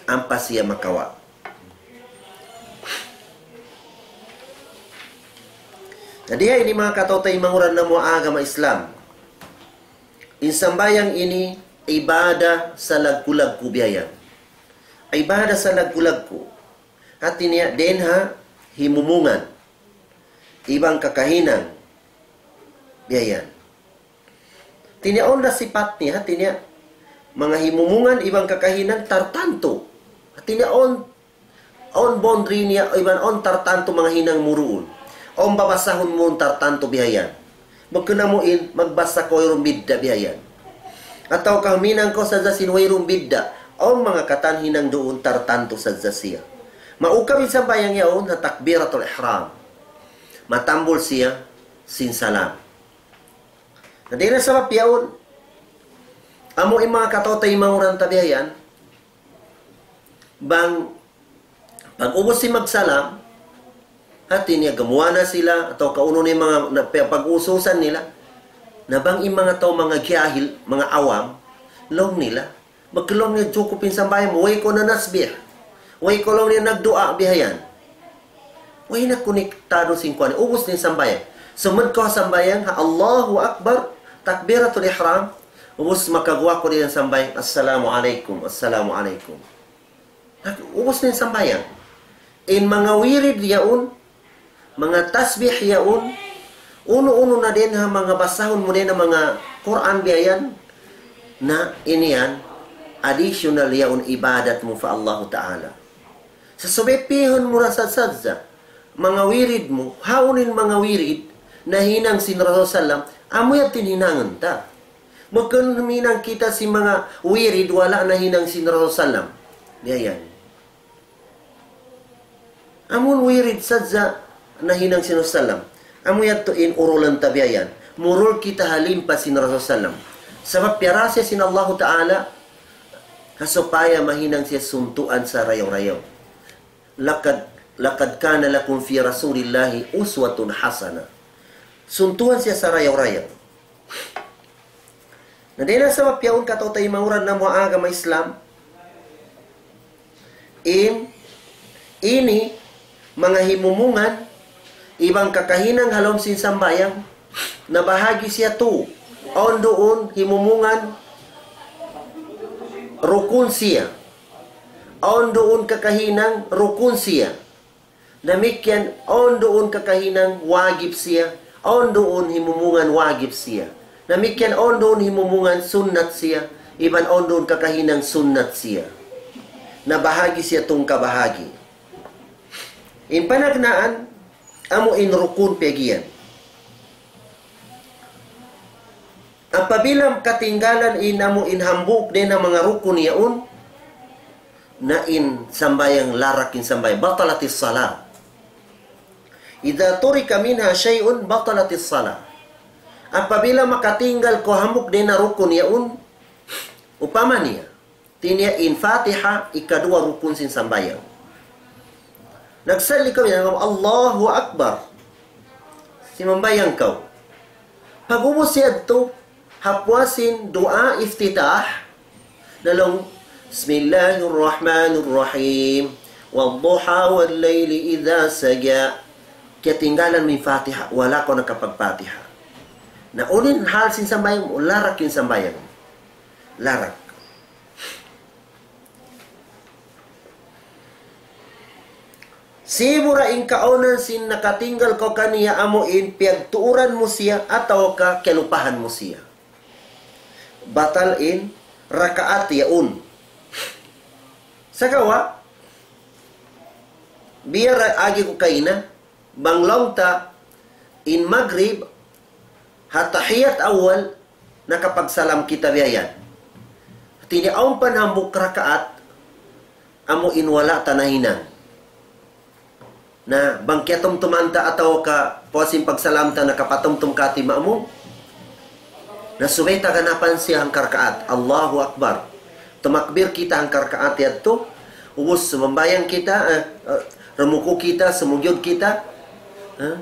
Ampa siya makawa'. Jadi ha ini manga kataymanghuran namu' ha agama Islam. In sambahayang ini ibadah salaggu'-laggu' bihayan. Ibadah salaggu'-laggu'. Hati niya, dayn ha himumungan. Iban kakahinang. Bihayan. Hati niya, awn da sipat niya, hati niya, Manga himumungan iban kakahinang tartantu. Hati niya awn, awn boundary niya iban awn tartantu manga hinang mu duun. Awn babasahun mu tartantu bihayan. Bukun amu in magbasa kaw wayruun bidda' bihayan. Atawa kaw huminang kaw sadja sin wayruun bidda'. Awn manga katan hinang duun tartantu sadja siya. Maukab in sambahayang yaun ha takbiratul ihram. Matambul siya sin salam. Na dayn ha sabab yaun, amu in manga kataw-taymanghuran ta bihayan, bang pag-ubus sin magsalam, hati niya gamuwa' na sila, atawa kaunu na in manga na, pag-uususan nila, na bang in manga tau manga jahil, manga awam, laung nila, maglaung niya jukup in sambahayang mu, way kaw nanasbih, way kaw laung niya nagduwaa bihayan. Way na konektadu sin kuwan, ubus na in sambahayang. Sumud kaw ha sambahayang, ha Allahu Akbar, takbiratul ihram, ubus makaguwa' kaw dayn ha sambahayang, "Assalamu alaykum, assalamu alaykum." Ubus na in sambahayang. In manga wirid yaun, manga tasbih yaun, unu-unu na dayn ha manga basahun mu dayn ha manga Qur'an bihayan, na ini yan, additional yaun ibadat mu pa Allahu Ta'ala. Sa' subay pihun mu ra sadja, manga wirid mu, hawnu in manga wirid, nahinang sin Rasul sallam, amu yadtu in hinangun ta. Bukun huminang kita sin manga wirid wala' nahinang sin Rasul sallam. Bihayan. Amun wirid sadja nahinang sin Rasul sallam. Amu yadtu in urulan ta bihayan. Murul kita ha limpa sin Rasul sallam. Sabab piyarasa sin Allahu Ta'ala, ha supaya mahinang siya suntuan sarayaw-rayaw. لقد، لقد كان لكم في رسول الله أسوة حسنة. Suntuan siya sarayaw-rayaw. Na dayn ha sabab yaun kataw-taymanghuran namu' ha agama Islam, in, ini, manga himumungan, iban kakahinang ha lawm sin sambahayang, nabahagi' siya tū. Awn duun himumungan, rukun siya. Awn duun kakahinang, rukun siya. Damikkiyan awn duun kakahinang wajib siya, awn duun himumungan wajib siya. Damikkiyan awn duun himumungan sunnat siya, iban awn duun kakahinang sunnat siya. Nabahagi' siya tū kabahagi'. In panagnaan, amu in rukun piyag'iyan. Apabila katinggalan in amu in hambuuk dayn ha manga rukun yaun, na in sambahayang larak in sambahayang, بطلت الصلاة. إذا ترك منها شيء بطلت الصلاة. Apabila makatinggal kaw hambuuk dayn ha rukun yaun, upama niya, hati niya in Fatiha, ikaduwa rukun sin sambahayang. Nagsalli kaw yan, Allahu Akbar. Simambahayang kaw. Pag-ubus yadtu, ha puas sin duwaa iftitah, laung, بسم الله الرحمن الرحيم. والضحى والليل إذا سجى. Kiyatinggalan mu in Fatiha, wala' kaw nakapag-Fatiha. Na unu in hal sin sambahayang mu, larak in sambahayang. Larak. Sibu' ra in kaawnan sin nakatinggal kaw kaniya amu in piyagtuuran mu siya atawa ka kiyalupahan mu siya. Batal in rakaat yaun. Sagawa', biya' ra agi ku kaina, bang laung ta in magrib, ha tahiyat awal, nakapagsalam kita biya' yan. Hati niya awn pa hambuuk rakaat, amu in wala' ta nahinang. Na, bang kiyatumtuman ta atawa ka puas sin pagsalam ta nakapatumtum kati' ma'mum. Na subay ta ganapan siya hangka rakaat. Allahu Akbar. Tumakbir kita hangka rakaat yadtu. Ubus sumambahayang kita, eh, eh, rumuku' kita, sumujud kita. Eh?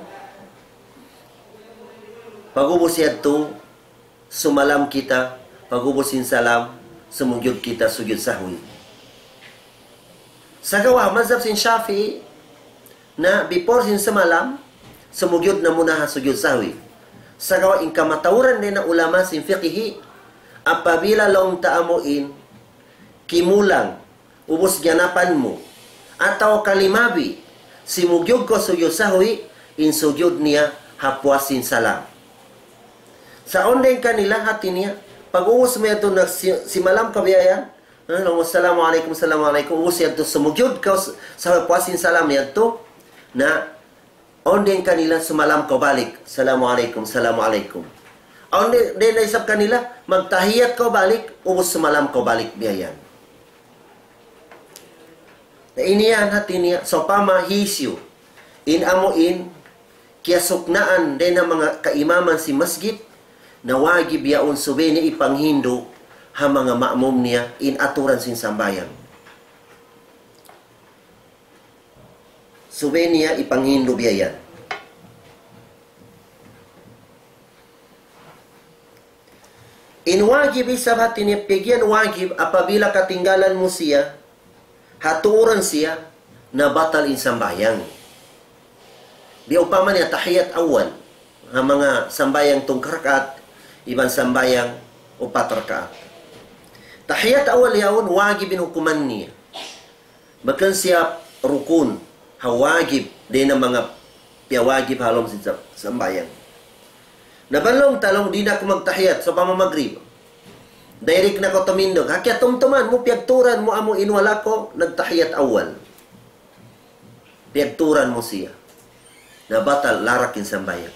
Pag-ubus yadtu, sumalam kita, pag-ubus sin salam, sumujud kita sujud sahwi. Sagawa' mazhab sin Shafi'i na before sin sumalam, sumujud na muna ha sujud sahwi. Sagawa' in kamatauran dayn ha ulama sin fiqhi, apabila laung ta amu in kimulang, ubus ganapan mu, atawa ka limabi, simujud kaw sujud sahwi, in sujud niya ha puas sin salam. Sa' awn dayn kanila hati niya, Pag-ubus mu yadtu na si-, simalam kaw biya' yan, ha, laung mu, "Assalamu alaykum, assalamu alaykum." Ubus yadtu sumujud kaw s-, sa' puas sin salam yadtu, na awn dayn kanila sumalam kaw balik, "Assalamu alaykum, assalamu alaykum." Awn dayn, dayn na isab kanila, magtahiyat kaw balik, ubus sumalam kaw balik biya' yan. Na ini yan hati niya, sawpama hisiyu in amu in kiyasuknaan dayn ha manga kaimaman sin masjid, na wajib yaun subay niya ipanghindu' ha manga ma'mum niya in aturan sin sambahayang. Subay niya ipanghindu' biya' yan. In wajib isab hati niya, piyag'iyan wajib apabila katinggalan mu siya, ha tuuran siya, na batal in sambahayang. Biya' upama niya tahiyat awal, ha manga sambahayang tungka rakaat, iban sambahayang upat rakaat. Tahiyat awal yaun wajib in hukuman niya. Bukun siya rukun, ha wajib, dayn ha manga piyawajib ha lawm sin sam-, sambahayang. Na bang laung ta laung, "Di' na aku magtahiyat," sawpama magrib. Direct na kaw tumindug. Ha kiyatumtuman mu, piyagtuuran mu amu in wala' kaw nagtahiyat awal. Piyagtuuran mu siya. Na batal, larak in sambahayang.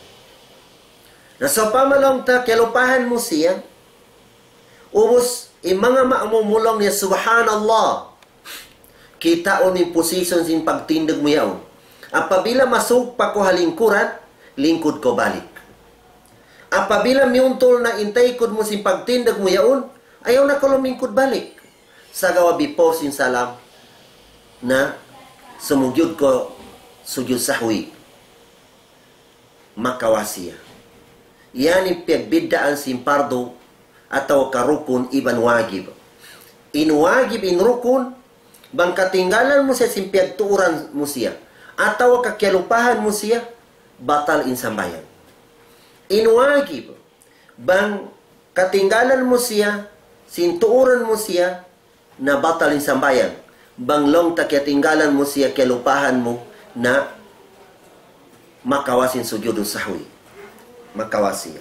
Na sawpama laung ta, kiyalupahan mu siya. Ubus, in manga ma'mum mu laung niya, "Subhanallah." Kitaun in position sin pagtindug mu yaun. Apabila masuk pa kaw ha lingkuran, lingkud kaw balik. Apabila miyuntul na in taykud mu sin pagtindug mu yaun, ayaw na kaw lumingkud balik. Sagawa' before sin salam, na sumujud kaw sujud sahwi. Makawa' siya. Yan in piyagbiddaan sin pardu atawa ka rukun iban wajib. In wajib, in rukun, bang katinggalan mu siya sin piyagtuuran mu siya, atawa ka kiyalupahan mu siya, batal in sambahayang. In wajib, bang katinggalan mu siya sin tuuran mu siya, na batal in sambahayang. Bang laung ta kiyatinggalan mu siya, kiyalupahan mu, na makawa' sin sujudu sahwi. Makawa' siya.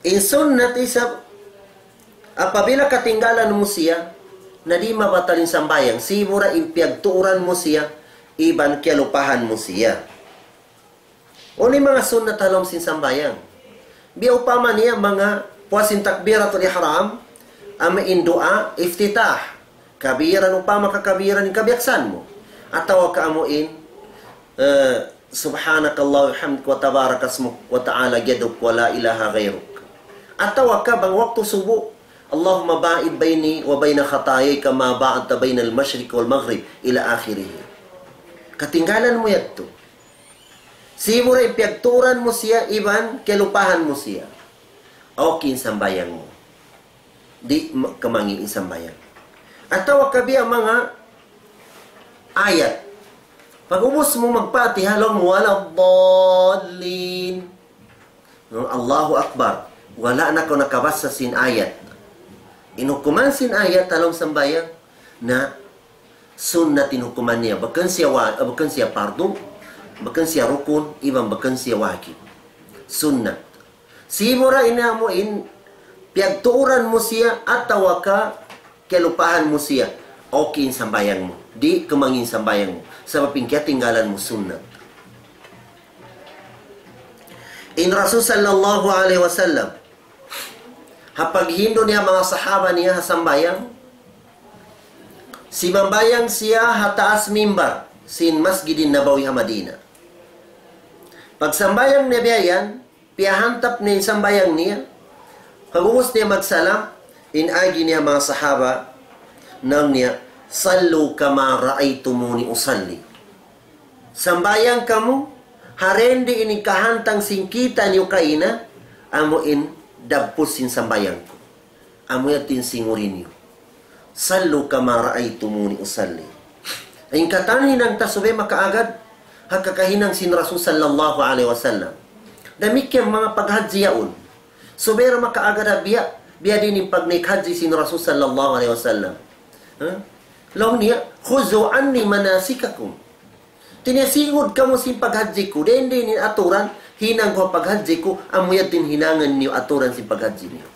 In sunnat isab, apabila katinggalan mu siya, na di' mabatal in sambahayang, sibu' ra in piyagtuuran mu siya, iban kiyalupahan mu siya. Unu in manga sunnat ha lawm sin sambahayang? Biya' upama niya manga puas sin takbiratul ihram, amu in duwaa iftitah. Kabiran, upama ka kabiran in kabiyaksahan mu. Atawa ka amu in, eh, سبحانك اللهم وبحمدك وتبارك اسمك وتعالى جدك ولا إله غيرك. Atawa ka bang waktu subu, اللهم باعد بيني وبين خطاياي كما باعدت بين المشرق والمغرب إلى آخره. Katinggalan mu yadtu. Sibu' ra in piyagtuuran mu siya, iban kiyalupahan mu siya. Okay in sambahayang mu. Di' ma-, kamangi' in sambahayang. Atawa ka biya' manga ayat. Pag-ubus mu mag-Fatiha, laung mu, "ولا الضالين." No, Allahu Akbar. Wala' na kaw nakabasa sin ayat. In hukuman sin ayat ha lawm sambahayang, na sunnat in hukuman niya. Bukun siya wa-, bukun siya pardu, bukun siya rukun, iban bukun siya wajib. Sunnat. Sibu' ra in amu in piyagtuuran mu siya atawa ka kiyalupahan mu siya, okay in sambahayang mu. Di' kamangi' in sambahayang mu. Sabab in kiyatinggalan mu sunnat. In Rasul sallallahu alayhi wasallam, ha paghindu' niya manga sahaba niya ha sambahayang, simambahayang siya ha taas mimbar sin Masjidin Nabawi ha Madina. Pagsambahayang niya biya' yan, piyahantap niya in sambahayang niya. Pag-ubus niya magsalam, in agi niya manga sahaba, laung niya, "صلوا كما رأيتموني أصلي." Sambahayang kamu, ha dindi ini kahantang sin kita' niyu kaina, amu in dabus sin sambahayang ku. Amu yadtu in singurin niyu. "صلوا كما رأيتموني أصلي." In katan hinang ta subay makaagad ha kakahinang sin Rasul sallallahu alayhi wasallam. Damikkiyan manga paghajji yaun. Subay da makaagad ha biya', biya' diin in pagnaik hajji sin Rasul sallallahu alayhi wasallam. Ha? Laung niya, "خذوا عني مناسككم." Hati niya singud kamu sin paghajji ku, dindi ini in aturan, hinang ku ha paghajji ku, amu yadtu in hinangun niyu aturan sin paghajji niyu.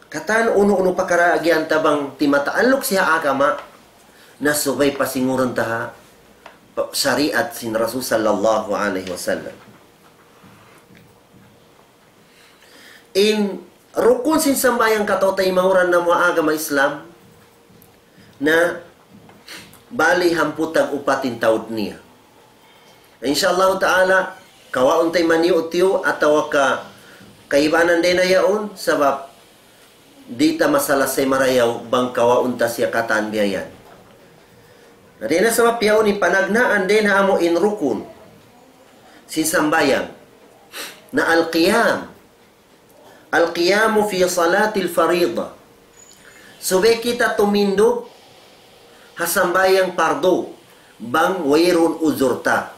Katan unu-unu pakara agihan ta bang di' mataalluk siya ha agama, na subay pasingurun ta ha pa-, shariat sin Rasul sallallahu alayhi wasallam. In rukun sin sambahayang kataw-taymanghuran namu' ha agama Islam, na bali hangpu' tag-upat in taud niya. Insya Allah Ta'ala, kawaun ta in maniyu-tiyu atawa ka kaibanan dayn ha yaun, sabab di' ta masalasay marayaw bang kawaun ta siya katan biya' yan. Na dayn ha sabab yaun in panagnaan dayn ha amu in rukun sin sambahayang na al-qiyam. Al-qiyamu fi salatil faridah. Subay kita tumindug ha sambahayang pardu bang wayruun uzur ta.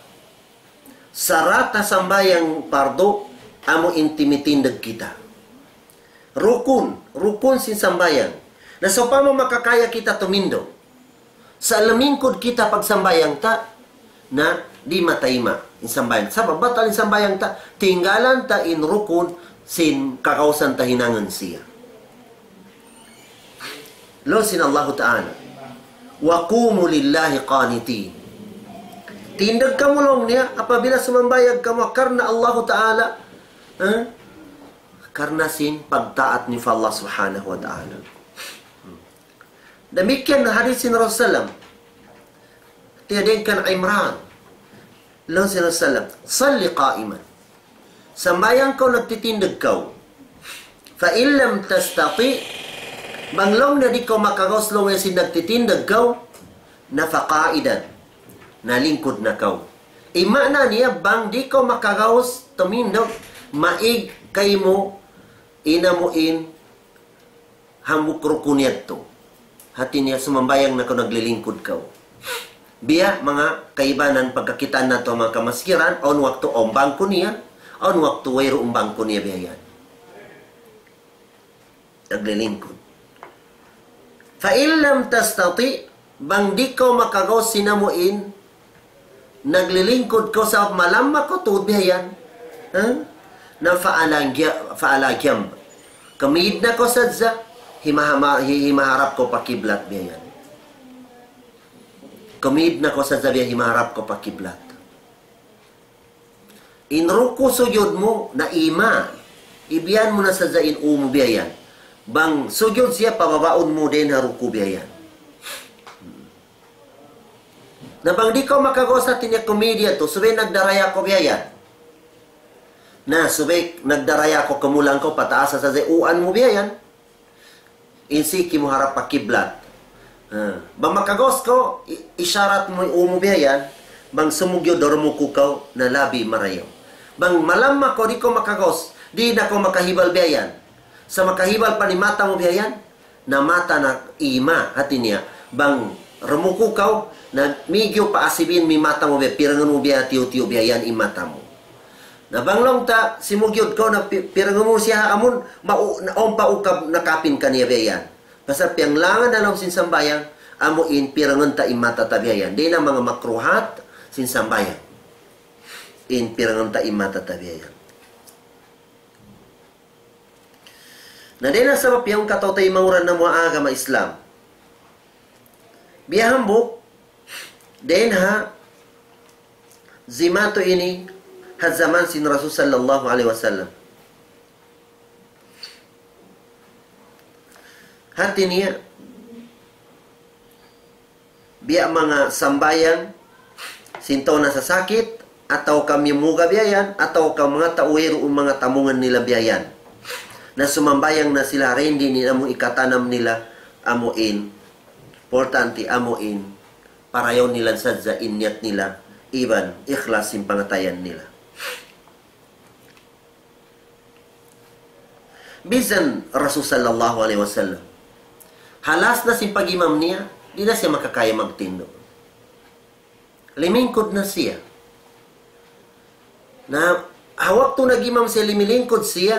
Sarat ha sambahayang pardu amu in timitindug kita. Rukun, rukun sin sambahayang. Na sawpama makakaya kita tumindug sa' lumingkud kita pagsambahayang ta, na di' matayma' in sambahayang. Sabab batal in sambahayang ta, tinggalan ta in rukun sin kagausan ta hinangun siya. Laung sin Allahu Ta'ala, "Wa qumu lillahi qanitin." Tindug kamu laung niya, apabila sumambahayang kamu karna' Allahu Ta'ala, eh? Karna' sin pagtaat niyu pa Allah Subhanahu wa Ta'ala. Damikkiyan hadis sin Rasulullah sallam. Hāti niya dayn kan Imran. Laung sin Rasulullah sallam, "Salli qa'iman." Sambahayang kaw nagtitindug kaw. "Fa in lam tastati'," bang laung niya di' kaw makagaus laung niya sin nagtitindug kaw, na "fa qa'idan," na lingkud na kaw. In maana niya, bang di' kaw makagaus tumindug, maig kaymu in amu in hambuuk rukun yadtu. Hāti niya sumambahayang na kaw naglilingkud kaw. Biya' manga kaibanan pagkakitaan natu' ha manga kamaskiran, awn waktu awn bangku niya, awn waktu wayruun bangku niya biya' yan. Naglilingkud. "Fa in lam tastati'," bang di' kaw makagaus sin amu in naglilingkud kaw sabab malamma kaw tuud biya' yan. Ha? Na "fa ala ja-, fa ala janb." Kumīd na kaw sadja, himahama-, hi-, himaharap kaw pa kiblat biya' yan. Kumīd na kaw sadja biya' himaharap kaw pa kiblat. In ruku' sujud mu na ima'. Ibiyan mu na sadja in ū mu biya' yan. Bang sujud siya, pababaun mu dayn ha ruku' biya' yan. Na bang di' kaw makagaus, hāti niya kumīd yadtu, subay nagdaraya kaw biya' yan. Na subay nagdaraya kaw, kamulang kaw, pataas sadja ūan mu biya' yan. In siki mu harap pa kiblat. Ha. Bang makagaus kaw, i-, isharat mu in ū mu biya' yan. Bang sumugyud, rumuku' kaw, na labi marayaw. Bang malamma kaw, di' kaw makagaus, di' na kaw makahibal biya' yan. Sa' makahibal pa in mata mu biya' yan, na mata na ima', hāti niya. Bang rumuku' kaw, na mīgiyu pa asibin mu in mata mu biya', pirangun mu biya' tiyu'-tiyu' biya' yan in mata mu. Na bang laung ta, simugyud kaw na pi-, pirangun mu siya ha amun, mau-, na awn pa ukab nakapin kaniya biya' yan. Pasal piyanglangan ha lawm sin sambahayang, amu in pirangun ta in mata ta biya' yan. Dayn ha manga makruhat sin sambahayang. In pirangun ta in mata ta biya' yan. Na dayn ha sabab yan kataw-taymanghuran namu' ha agama Islam. Biya' hambuuk, dayn ha zimatu ini ha jaman sin Rasul sallallahu alayhi wasallam. Hāti niya, biya' manga sambahayang sin tau nasasakit, atawa ka mimuga biya' yan, atawa ka manga tau wayruun manga tamungan nila biya' yan. Na sumambahayang na sila, dayn di' nila amu in ikatanam nila, amu in, importante amu in, parayaw nila sadja in niyat nila, iban ikhlas sin pangatayan nila. Bisan Rasul sallallahu alayhi wasallam, halas na sin pag-imam niya, di' na siya makakaya magtindug. Limingkud na siya. Na, ha waktu nag-imam siya, limilingkud siya,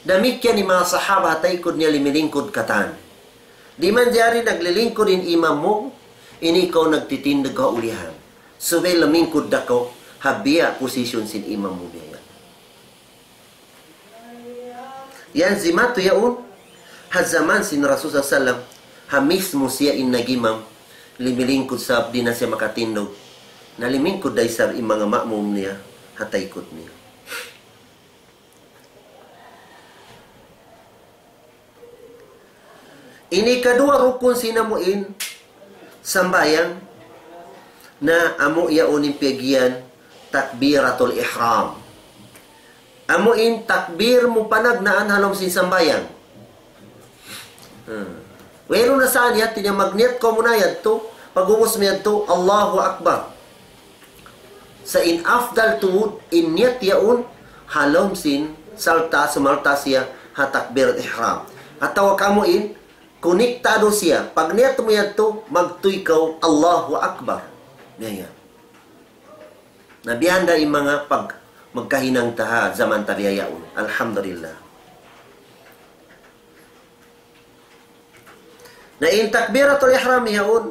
damikkiyan in manga sahaba ha taykud niya limilingkud katan. Di' manjari naglilingkud in imam mu, ini kaw nagtitindug ha ulihan. Subay limingkud da kaw, ha biya' position sin imam mu biya' yan. Yan si matu yaun, ha jaman sin Rasul sallallahu alayhi wasallam, ha mismu siya in nag-imam, limilingkud sab di' na siya makatindug. Na limingkud da isab in manga ma'mum niya, ha taykud niya. Ini kaduwa rukun sin amu in sambahayang na amu yaun in piyag'iyan takbiratul ihram. Amu in takbir mu panagnaan ha lawm sin sambahayang. Hmm. Wayruun na sa niya, hati niya magniyat kaw muna yadtu, pag'ubus mu yadtu, Allahu Akbar. Sa' in afdal tuud, in niyat yaun, ha lawm sin salta', sumalta' siya, ha takbir ihram. Atawa kamu in, kuniktado siya, pagniyat mu yadtu, magtuy kaw, Allahu Akbar. Yan yan. Na biya' handa in manga pag-, magkahinang ta ha jaman ta biya' yaun. Alhamdulillah. Na in takbiratul ihram yaun,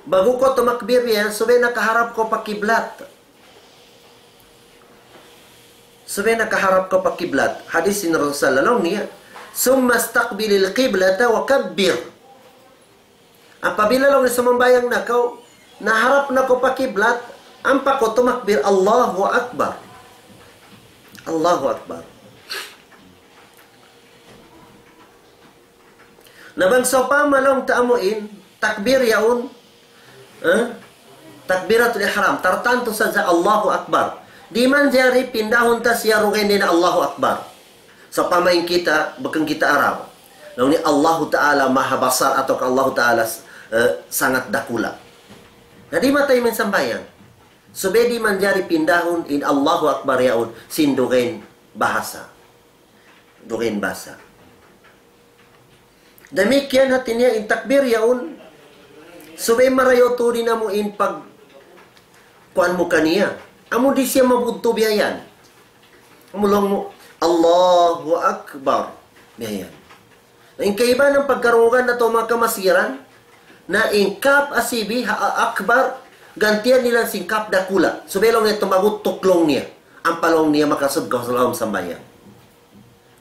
ba'gu kaw tumakbir yan, subay nakaharap kaw pa kiblat. Subay nakaharap kaw pa kiblat. Hadis sin Rasul sallallahu alayhi wasallam niya, ثم استقبل القبلة وكبر. Apabila laung niya sumambahayang na kaw, naharap na kaw pa kiblat, ampa kaw tumakbir, Allahu Akbar. Allahu Akbar. Na bang sawpama laung ta amu in, takbir yaun, eh? Takbiratul ihram, tartantu sadja Allahu Akbar. Di' manjari pindahun ta siya dugaing dayn ha Allahu Akbar. Sawpama in kita, bukun kita Arab. Laung niya Allahu Ta'ala Maha Basar atawa ka Allahu Ta'ala, eh, Sangat Dakula'. Na di' matayma in sambahayang. Subay di' manjari pindahun in Allahu Akbar yaun sin dugaing bahasa. Dugaing bahasa. Damikkiyan hati niya in takbir yaun, subay marayaw tuud in amu in pag-, kuwan mu kaniya. Amu di' siya mabudtu biya' yan. Amu laung mu, Allahu Akbar. Biya' yan. In kaibanan pagkarungugan natu' manga kamasiran, na in kap asibi ha a-, akbar, gantian nila sin kap dakula'. Subay laung niya tumagut tuklung niya. Ampa laung niya makasud kaw ha lawm sambahayang.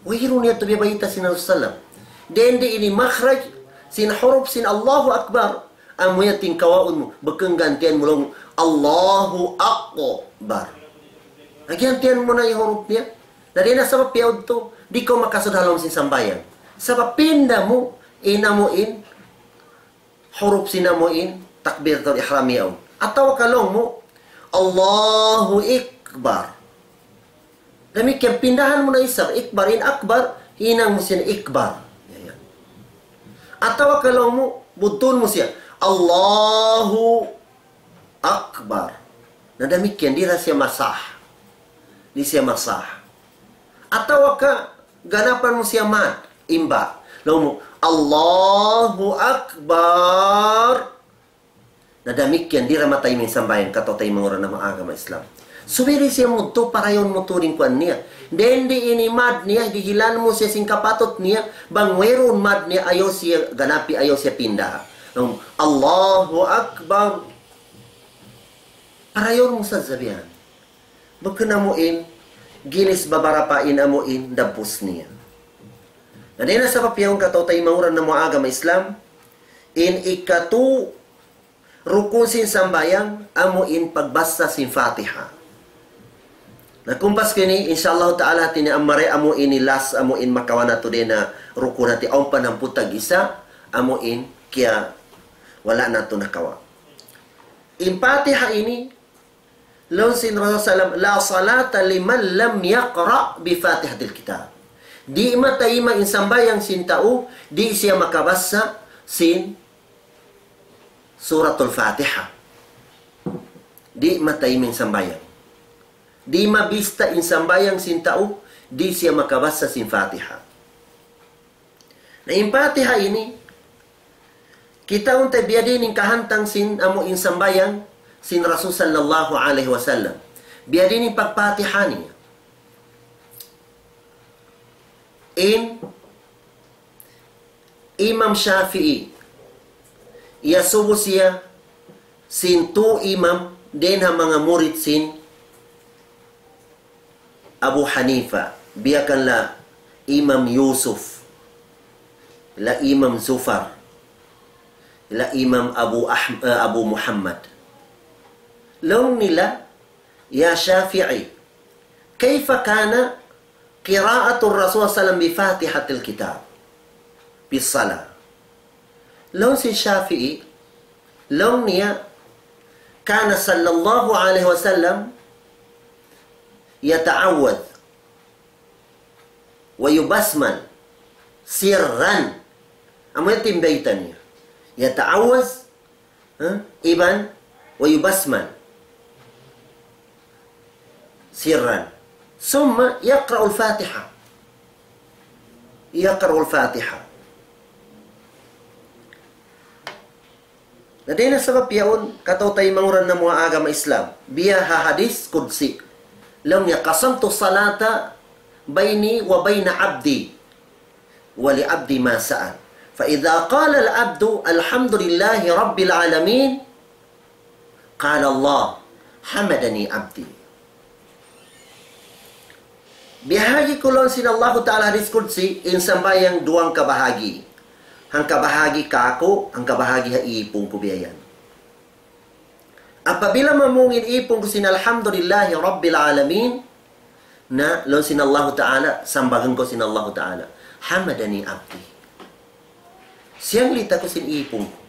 Wayruun niya tuud biya' bayta' sin Rasul sallam. Dayn di ini makhraj sin huruf sin Allahu Akbar. Amu yan tingkawaun mu, bukun gantian mu laung, Allahu Akbar. Gantian mu na in huruf niya. Na di' na sabab piyaud tu, di' kaw makasud ha lawm sin sambahayang. Sabab pinda mu, in amu in, huruf sin amu in takbiratul ihram yaun. Atawa ka laung mu, Allahu Akbar. Damikkiyan, pindahan mu na isab, ikbar, in akbar, hinang mu siya na ikbar. Yan, yan. Atawa ka laung mu, budtun mu siya, Allahu Akbar. Na damikkiyan, di' ra siya masah. Di' siya masah. Atawa ka, ganapan mu siya mad, in ba. Laung mu, Allahu Akbar. Na damikkiyan, di' ra matayma in sambahayang kataw-taymanghuran namu' agama Islam. Subay di' siya mudtu, parayawun mu tuud in kuwan niya. Dayn di ini mad niya, dihilan mu siya sin kapatut niya, bang wayruun mad niya, ayaw siya ganapi, ayaw siya pinda. Laung mu, Allahu Akbar. Parayawun mu sadja biya' yan. Bukun amu in, ginis babarapa in amu in, dabbus niya. Na dayn ha sabab yaun kataw-taymanghuran namu' agama Islam, in ikatu rukun sin sambahayang, amu in pagbasa sin Fatiha. Na kumpas ku ini, insya Allah ta'ala, hati niya amari amu ini last, amu in makawa' natu' dayn ha rukun hati, awn pa hangpu' tag-isa, amu in kiya wala' natu' nakawa'. In Fatiha ini, laung sin Rasul sallam, لا صلاة لمن لم يقرأ بفاتحة الكتاب. Di' matayma in sambahayang sin tau, di' siya makabasa sin Suratul Fatiha. Di' matayma in sambahayang. Di' mabista in sambahayang sin tau, di' siya makabasa sin Fatiha. Na in Fatiha ini, kitaun ta biyadiin in kahantang sin amu in sambahayang sin Rasul sallallahu alayhi wasallam. Biyadiin in pag-Fatiha niya. In Imam Shafi'i, iyasubu siya sin tū imam dayn ha manga murid sin Abu Hanifa, biya' kan la Imam Yusuf, la Imam Zufar, la Imam Abu Ahm-, eh, Abu Muhammad. Laung nila, "Ya Shafi'i, kayfa kana qira'atur Rasul sallallahu alayhi wasallam bi Fatihatil Kitab bis salah?" Laung sin Shafi'i, laung niya, "Kana sallallahu alayhi wasallam yata'awwadh wa yubasmal sirran." Amu yan in bayta' niya. Yata'awwadh, ha? Iban, wa yubasmal sirran. Summa yaqra'ul Fatiha. Yaqra'ul Fatiha. Na dayn ha sabab yaun, kataw-taymanghuran namu' ha agama Islam. Biya' ha hadith qudsi. Laung niya, "Qasamtu salata bayni wa bayna abdi, wa li abdi ma sa'al. Fa idha qala al-abdu alhamdulillahi rabbil alamin, qala Allah, hamadani abdi." Biyahagi' ku laung sin Allahu Ta'ala hadith qudsi, in sambahayang duwang kabahagi'. Hangkabahagi' kāku', hangkabahagi' ha ipun ku biya' yan. Apabila mamung in ipun ku sin alhamdulillahi rabbil alamin, na laung sin Allahu Ta'ala, sambagan ku sin Allahu Ta'ala, hamadani abdi. Siyanglita ku sin ipun ku.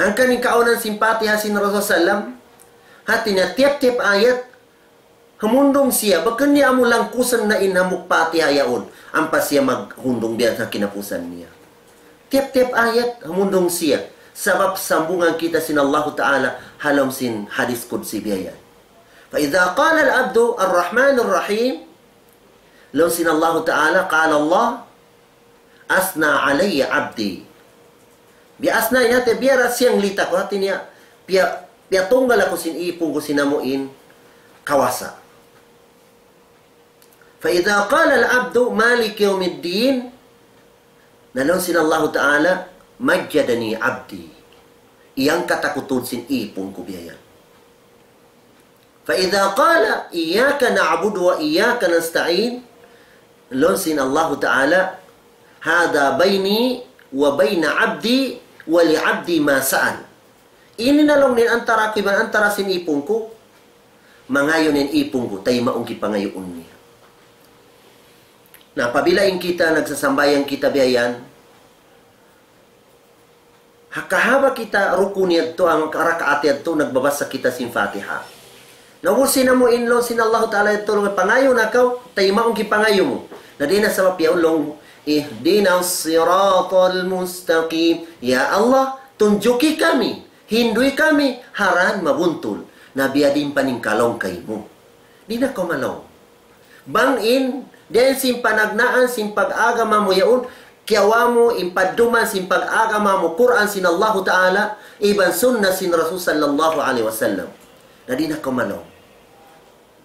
Na hangkan in kaawnan sin Fatiha sin Rasul sallam, hati niya tiyap-tiyap ayat, humundung siya, bukun niya amu langkusan na in hambuuk Fatiha yaun, ampa siya maghundung biya' ha kinapusan niya. Tiyap-tiyap ayat, humundung siya. Sabab sambungan kita sin Allahu Ta'ala, ha lawm sin hadith qudsi biya' yan. فإذا قال العبد الرحمن الرحيم, laung sin Allahu Ta'ala, قال الله, أثنى علي عبدي. Biya' asna in hati, biya' da siyanglita ku, hati niya, biya', biya' tunggal aku sin ipun ku sin amu in kawasa. فإذا قال العبد مالك يوم الدين, na laung sin Allahu Ta'ala, مجدني عبدي. Iyangkat aku tuud sin ipun ku biya' yan. فإذا قال إياك نعبد وإياك نستعين, laung sin Allahu Ta'ala, هذا بيني وبين عبدي ولعبدي ما سأل. Ini na laung niya antara aku iban antara sin ipun ku, mangayun in ipun ku, taymaun kipangayuun niya. Na apabila in kita nagsasambahayang kita biya' yan, ha kahaba' kita rukun yadtu, amu in rakaat yadtu, nagbabasa kita sin Fatiha. Na ubus sin amu in laung sin Allahu Ta'ala yadtu, laung, pangayuun na kaw, taymaun in pangayu' mu. Na dayn ha sabab yaun laung, اهدنا الصراط المستقيم. Ya Allah, tunjuki kami, hindui kami, ha dan mabuntul. Na biya' diin paningkalaung kaymu. Di' na kaw malaung. Bang in, dayn sin panagnaan sin pag-agama mu yaun, kiyawa' mu in padduman sin pag-agama mu, Qur'an sin Allahu Ta'ala, iban sunnah sin Rasul sallallahu alayhi wasallam. Na di' na kaw malaung.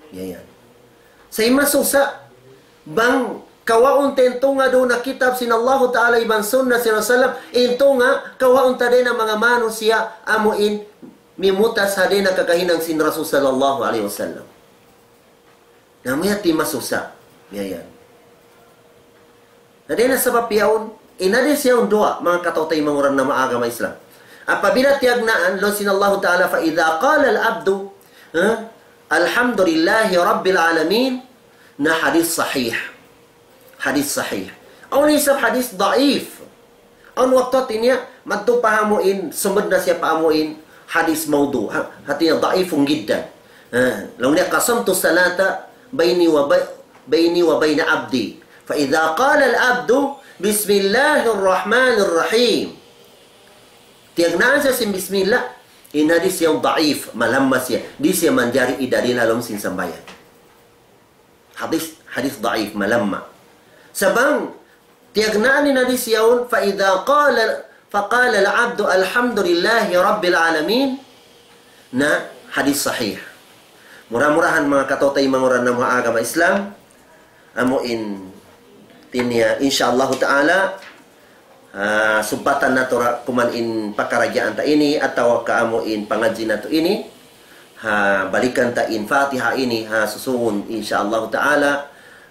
Biya' yan. Sa' in masusa, bang kawaun ta in tunga' duun ha kitab sin Allahu Ta'ala iban sunnah sin Rasul sallam, in tunga' kawaun ta dayn ha manga manusiya' amu in mimutas ha dayn ha kakahinang sin Rasul sallallahu alayhi wasallam. Na amu yadtu in masusa. Biya' yan. Na dayn ha sabab yaun, in hadith yaun duwa, manga kataw-taymanghuran namu' ha agama Islam. Apabila tiyagnaan, laung sin Allahu Ta'ala, فإذا قال العبد, ha? الحمد لله رب العالمين, na hadith sahih. Hadith sahih. Awn isab hadith daif. Awn waktu hati niya, madtu pa amu in, sumud na siya pa amu in, hadith mawdu'. Ha, hati niya daifun jiddan. Ha, laung niya, قسمت الصلاة بيني وبي-، بيني وبين عبدي. فإذا قال العبد بسم الله الرحمن الرحيم. Tiyagnaan siya sin bismillah, in hadith yaun daif, malamma siya. Di' siya manjari hidalil ha lawm sin sambahayang. Hadith, hadith daif, malamma. Sa' bang tiyagnaan in hadith yaun, فإذا قال، فقال العبد الحمد لله رب العالمين, na hadith sahih. Mura-murahan manga kataw-taymanghuran namu' ha agama Islam, amu in hati niya, insya Allahu Ta'ala, ah, subbatan natu' ra kuman in pakaradjaan ta ini, atawa ka amu in pangadji' natu' ini, Ha balikan ta in Fatiha ini ha susungun, insya Allah Ta'ala,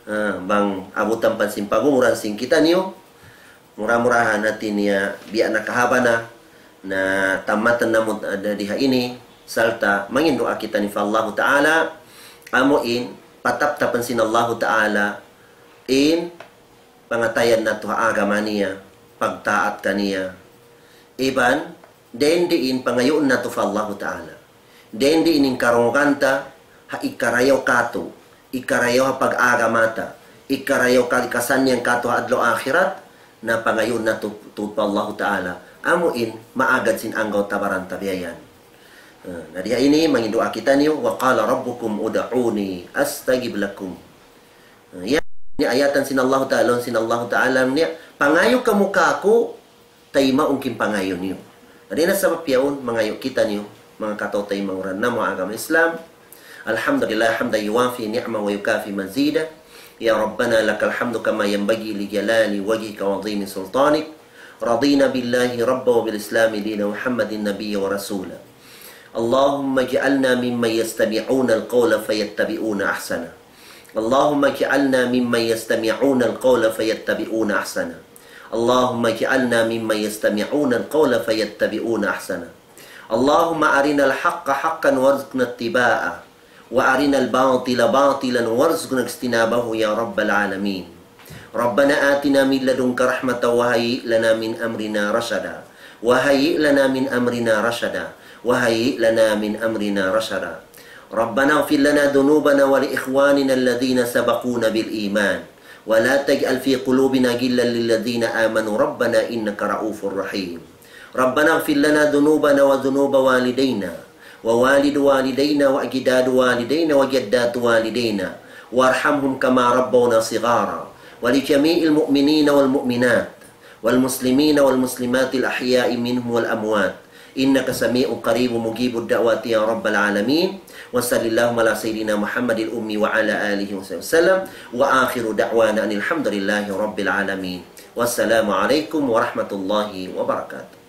ah, bang abutan pa sin pagumuran sin kitaniyu. Mura-murahan hati niya biya' na kahaba' na, na tamatan namu' da di ha ini, sarta' manginduwaa kitaniyu pa Allah Ta'ala, amu in pataptapan sin Allah Ta'ala in pangatayan natu' ha agama niya, pagtaat kaniya. Iban, dayn diin pangayuun natu' pa Allah Ta'ala. Dayn diin in karungugan ta, ha ikarayaw katu', ikarayaw ha pag-agama ta, ikarayaw kali kasannyang katu' ha adlaw akhirat, na pangayuun natu' tuud pa Allah Ta'ala. Amu in, maagad sin anggawta' baran ta biya' yan. Ah, na di ha ini, manginduwaa kitaniyu, وقال ربكم ادعوني أستجب لكم. Ah, yan, ini ayatan sin Allah Ta'ala, sin Allah Ta'ala niya, pangayu' kamu kāku', taymaun ku in pangayu' niyu. Na di na sabab yaun, mangayu' kitaniyu, manga kataw-taymanghud namu' ha agama Islam. الحمد لله حمدا يوافي نعمه ويكافئ مزيده. يا ربنا لك الحمد كما ينبغي لجلال وجهك وعظيم سلطانك. رضينا بالله ربا وبالإسلام دينا ومحمد نبيا ورسولا. اللهم اجعلنا ممن يستمعون القول فيتبعون أحسنه. اللهم اجعلنا ممن يستمعون القول فيتبعون أحسنه. اللهم اجعلنا ممن يستمعون القول فيتبعون أحسنه. اللهم أرنا الحق حقا وارزقنا اتباعه، وأرنا الباطل باطلا وارزقنا اجتنابه يا رب العالمين. ربنا آتنا من لدنك رحمة وهيئ لنا من أمرنا رشدا. وهيئ لنا من أمرنا رشدا. وهيئ لنا من أمرنا رشدا. ربنا اغفر لنا ذنوبنا ولإخواننا الذين سبقونا بالإيمان ولا تجعل في قلوبنا غلا للذين آمنوا ربنا إنك رءوف رحيم. ربنا اغفر لنا ذنوبنا وذنوب والدينا ووالد والدينا وأجداد والدينا وجدات والدينا وارحمهم كما ربونا صغارا ولجميع المؤمنين والمؤمنات والمسلمين والمسلمات الأحياء منهم والأموات إنك سميع قريب مجيب الدعوات يا رب العالمين. وصل اللهم على سيدنا محمد الأمي وعلى آله وصحبه وسلم. وآخر دعوانا أن الحمد لله رب العالمين. والسلام عليكم ورحمة الله وبركاته.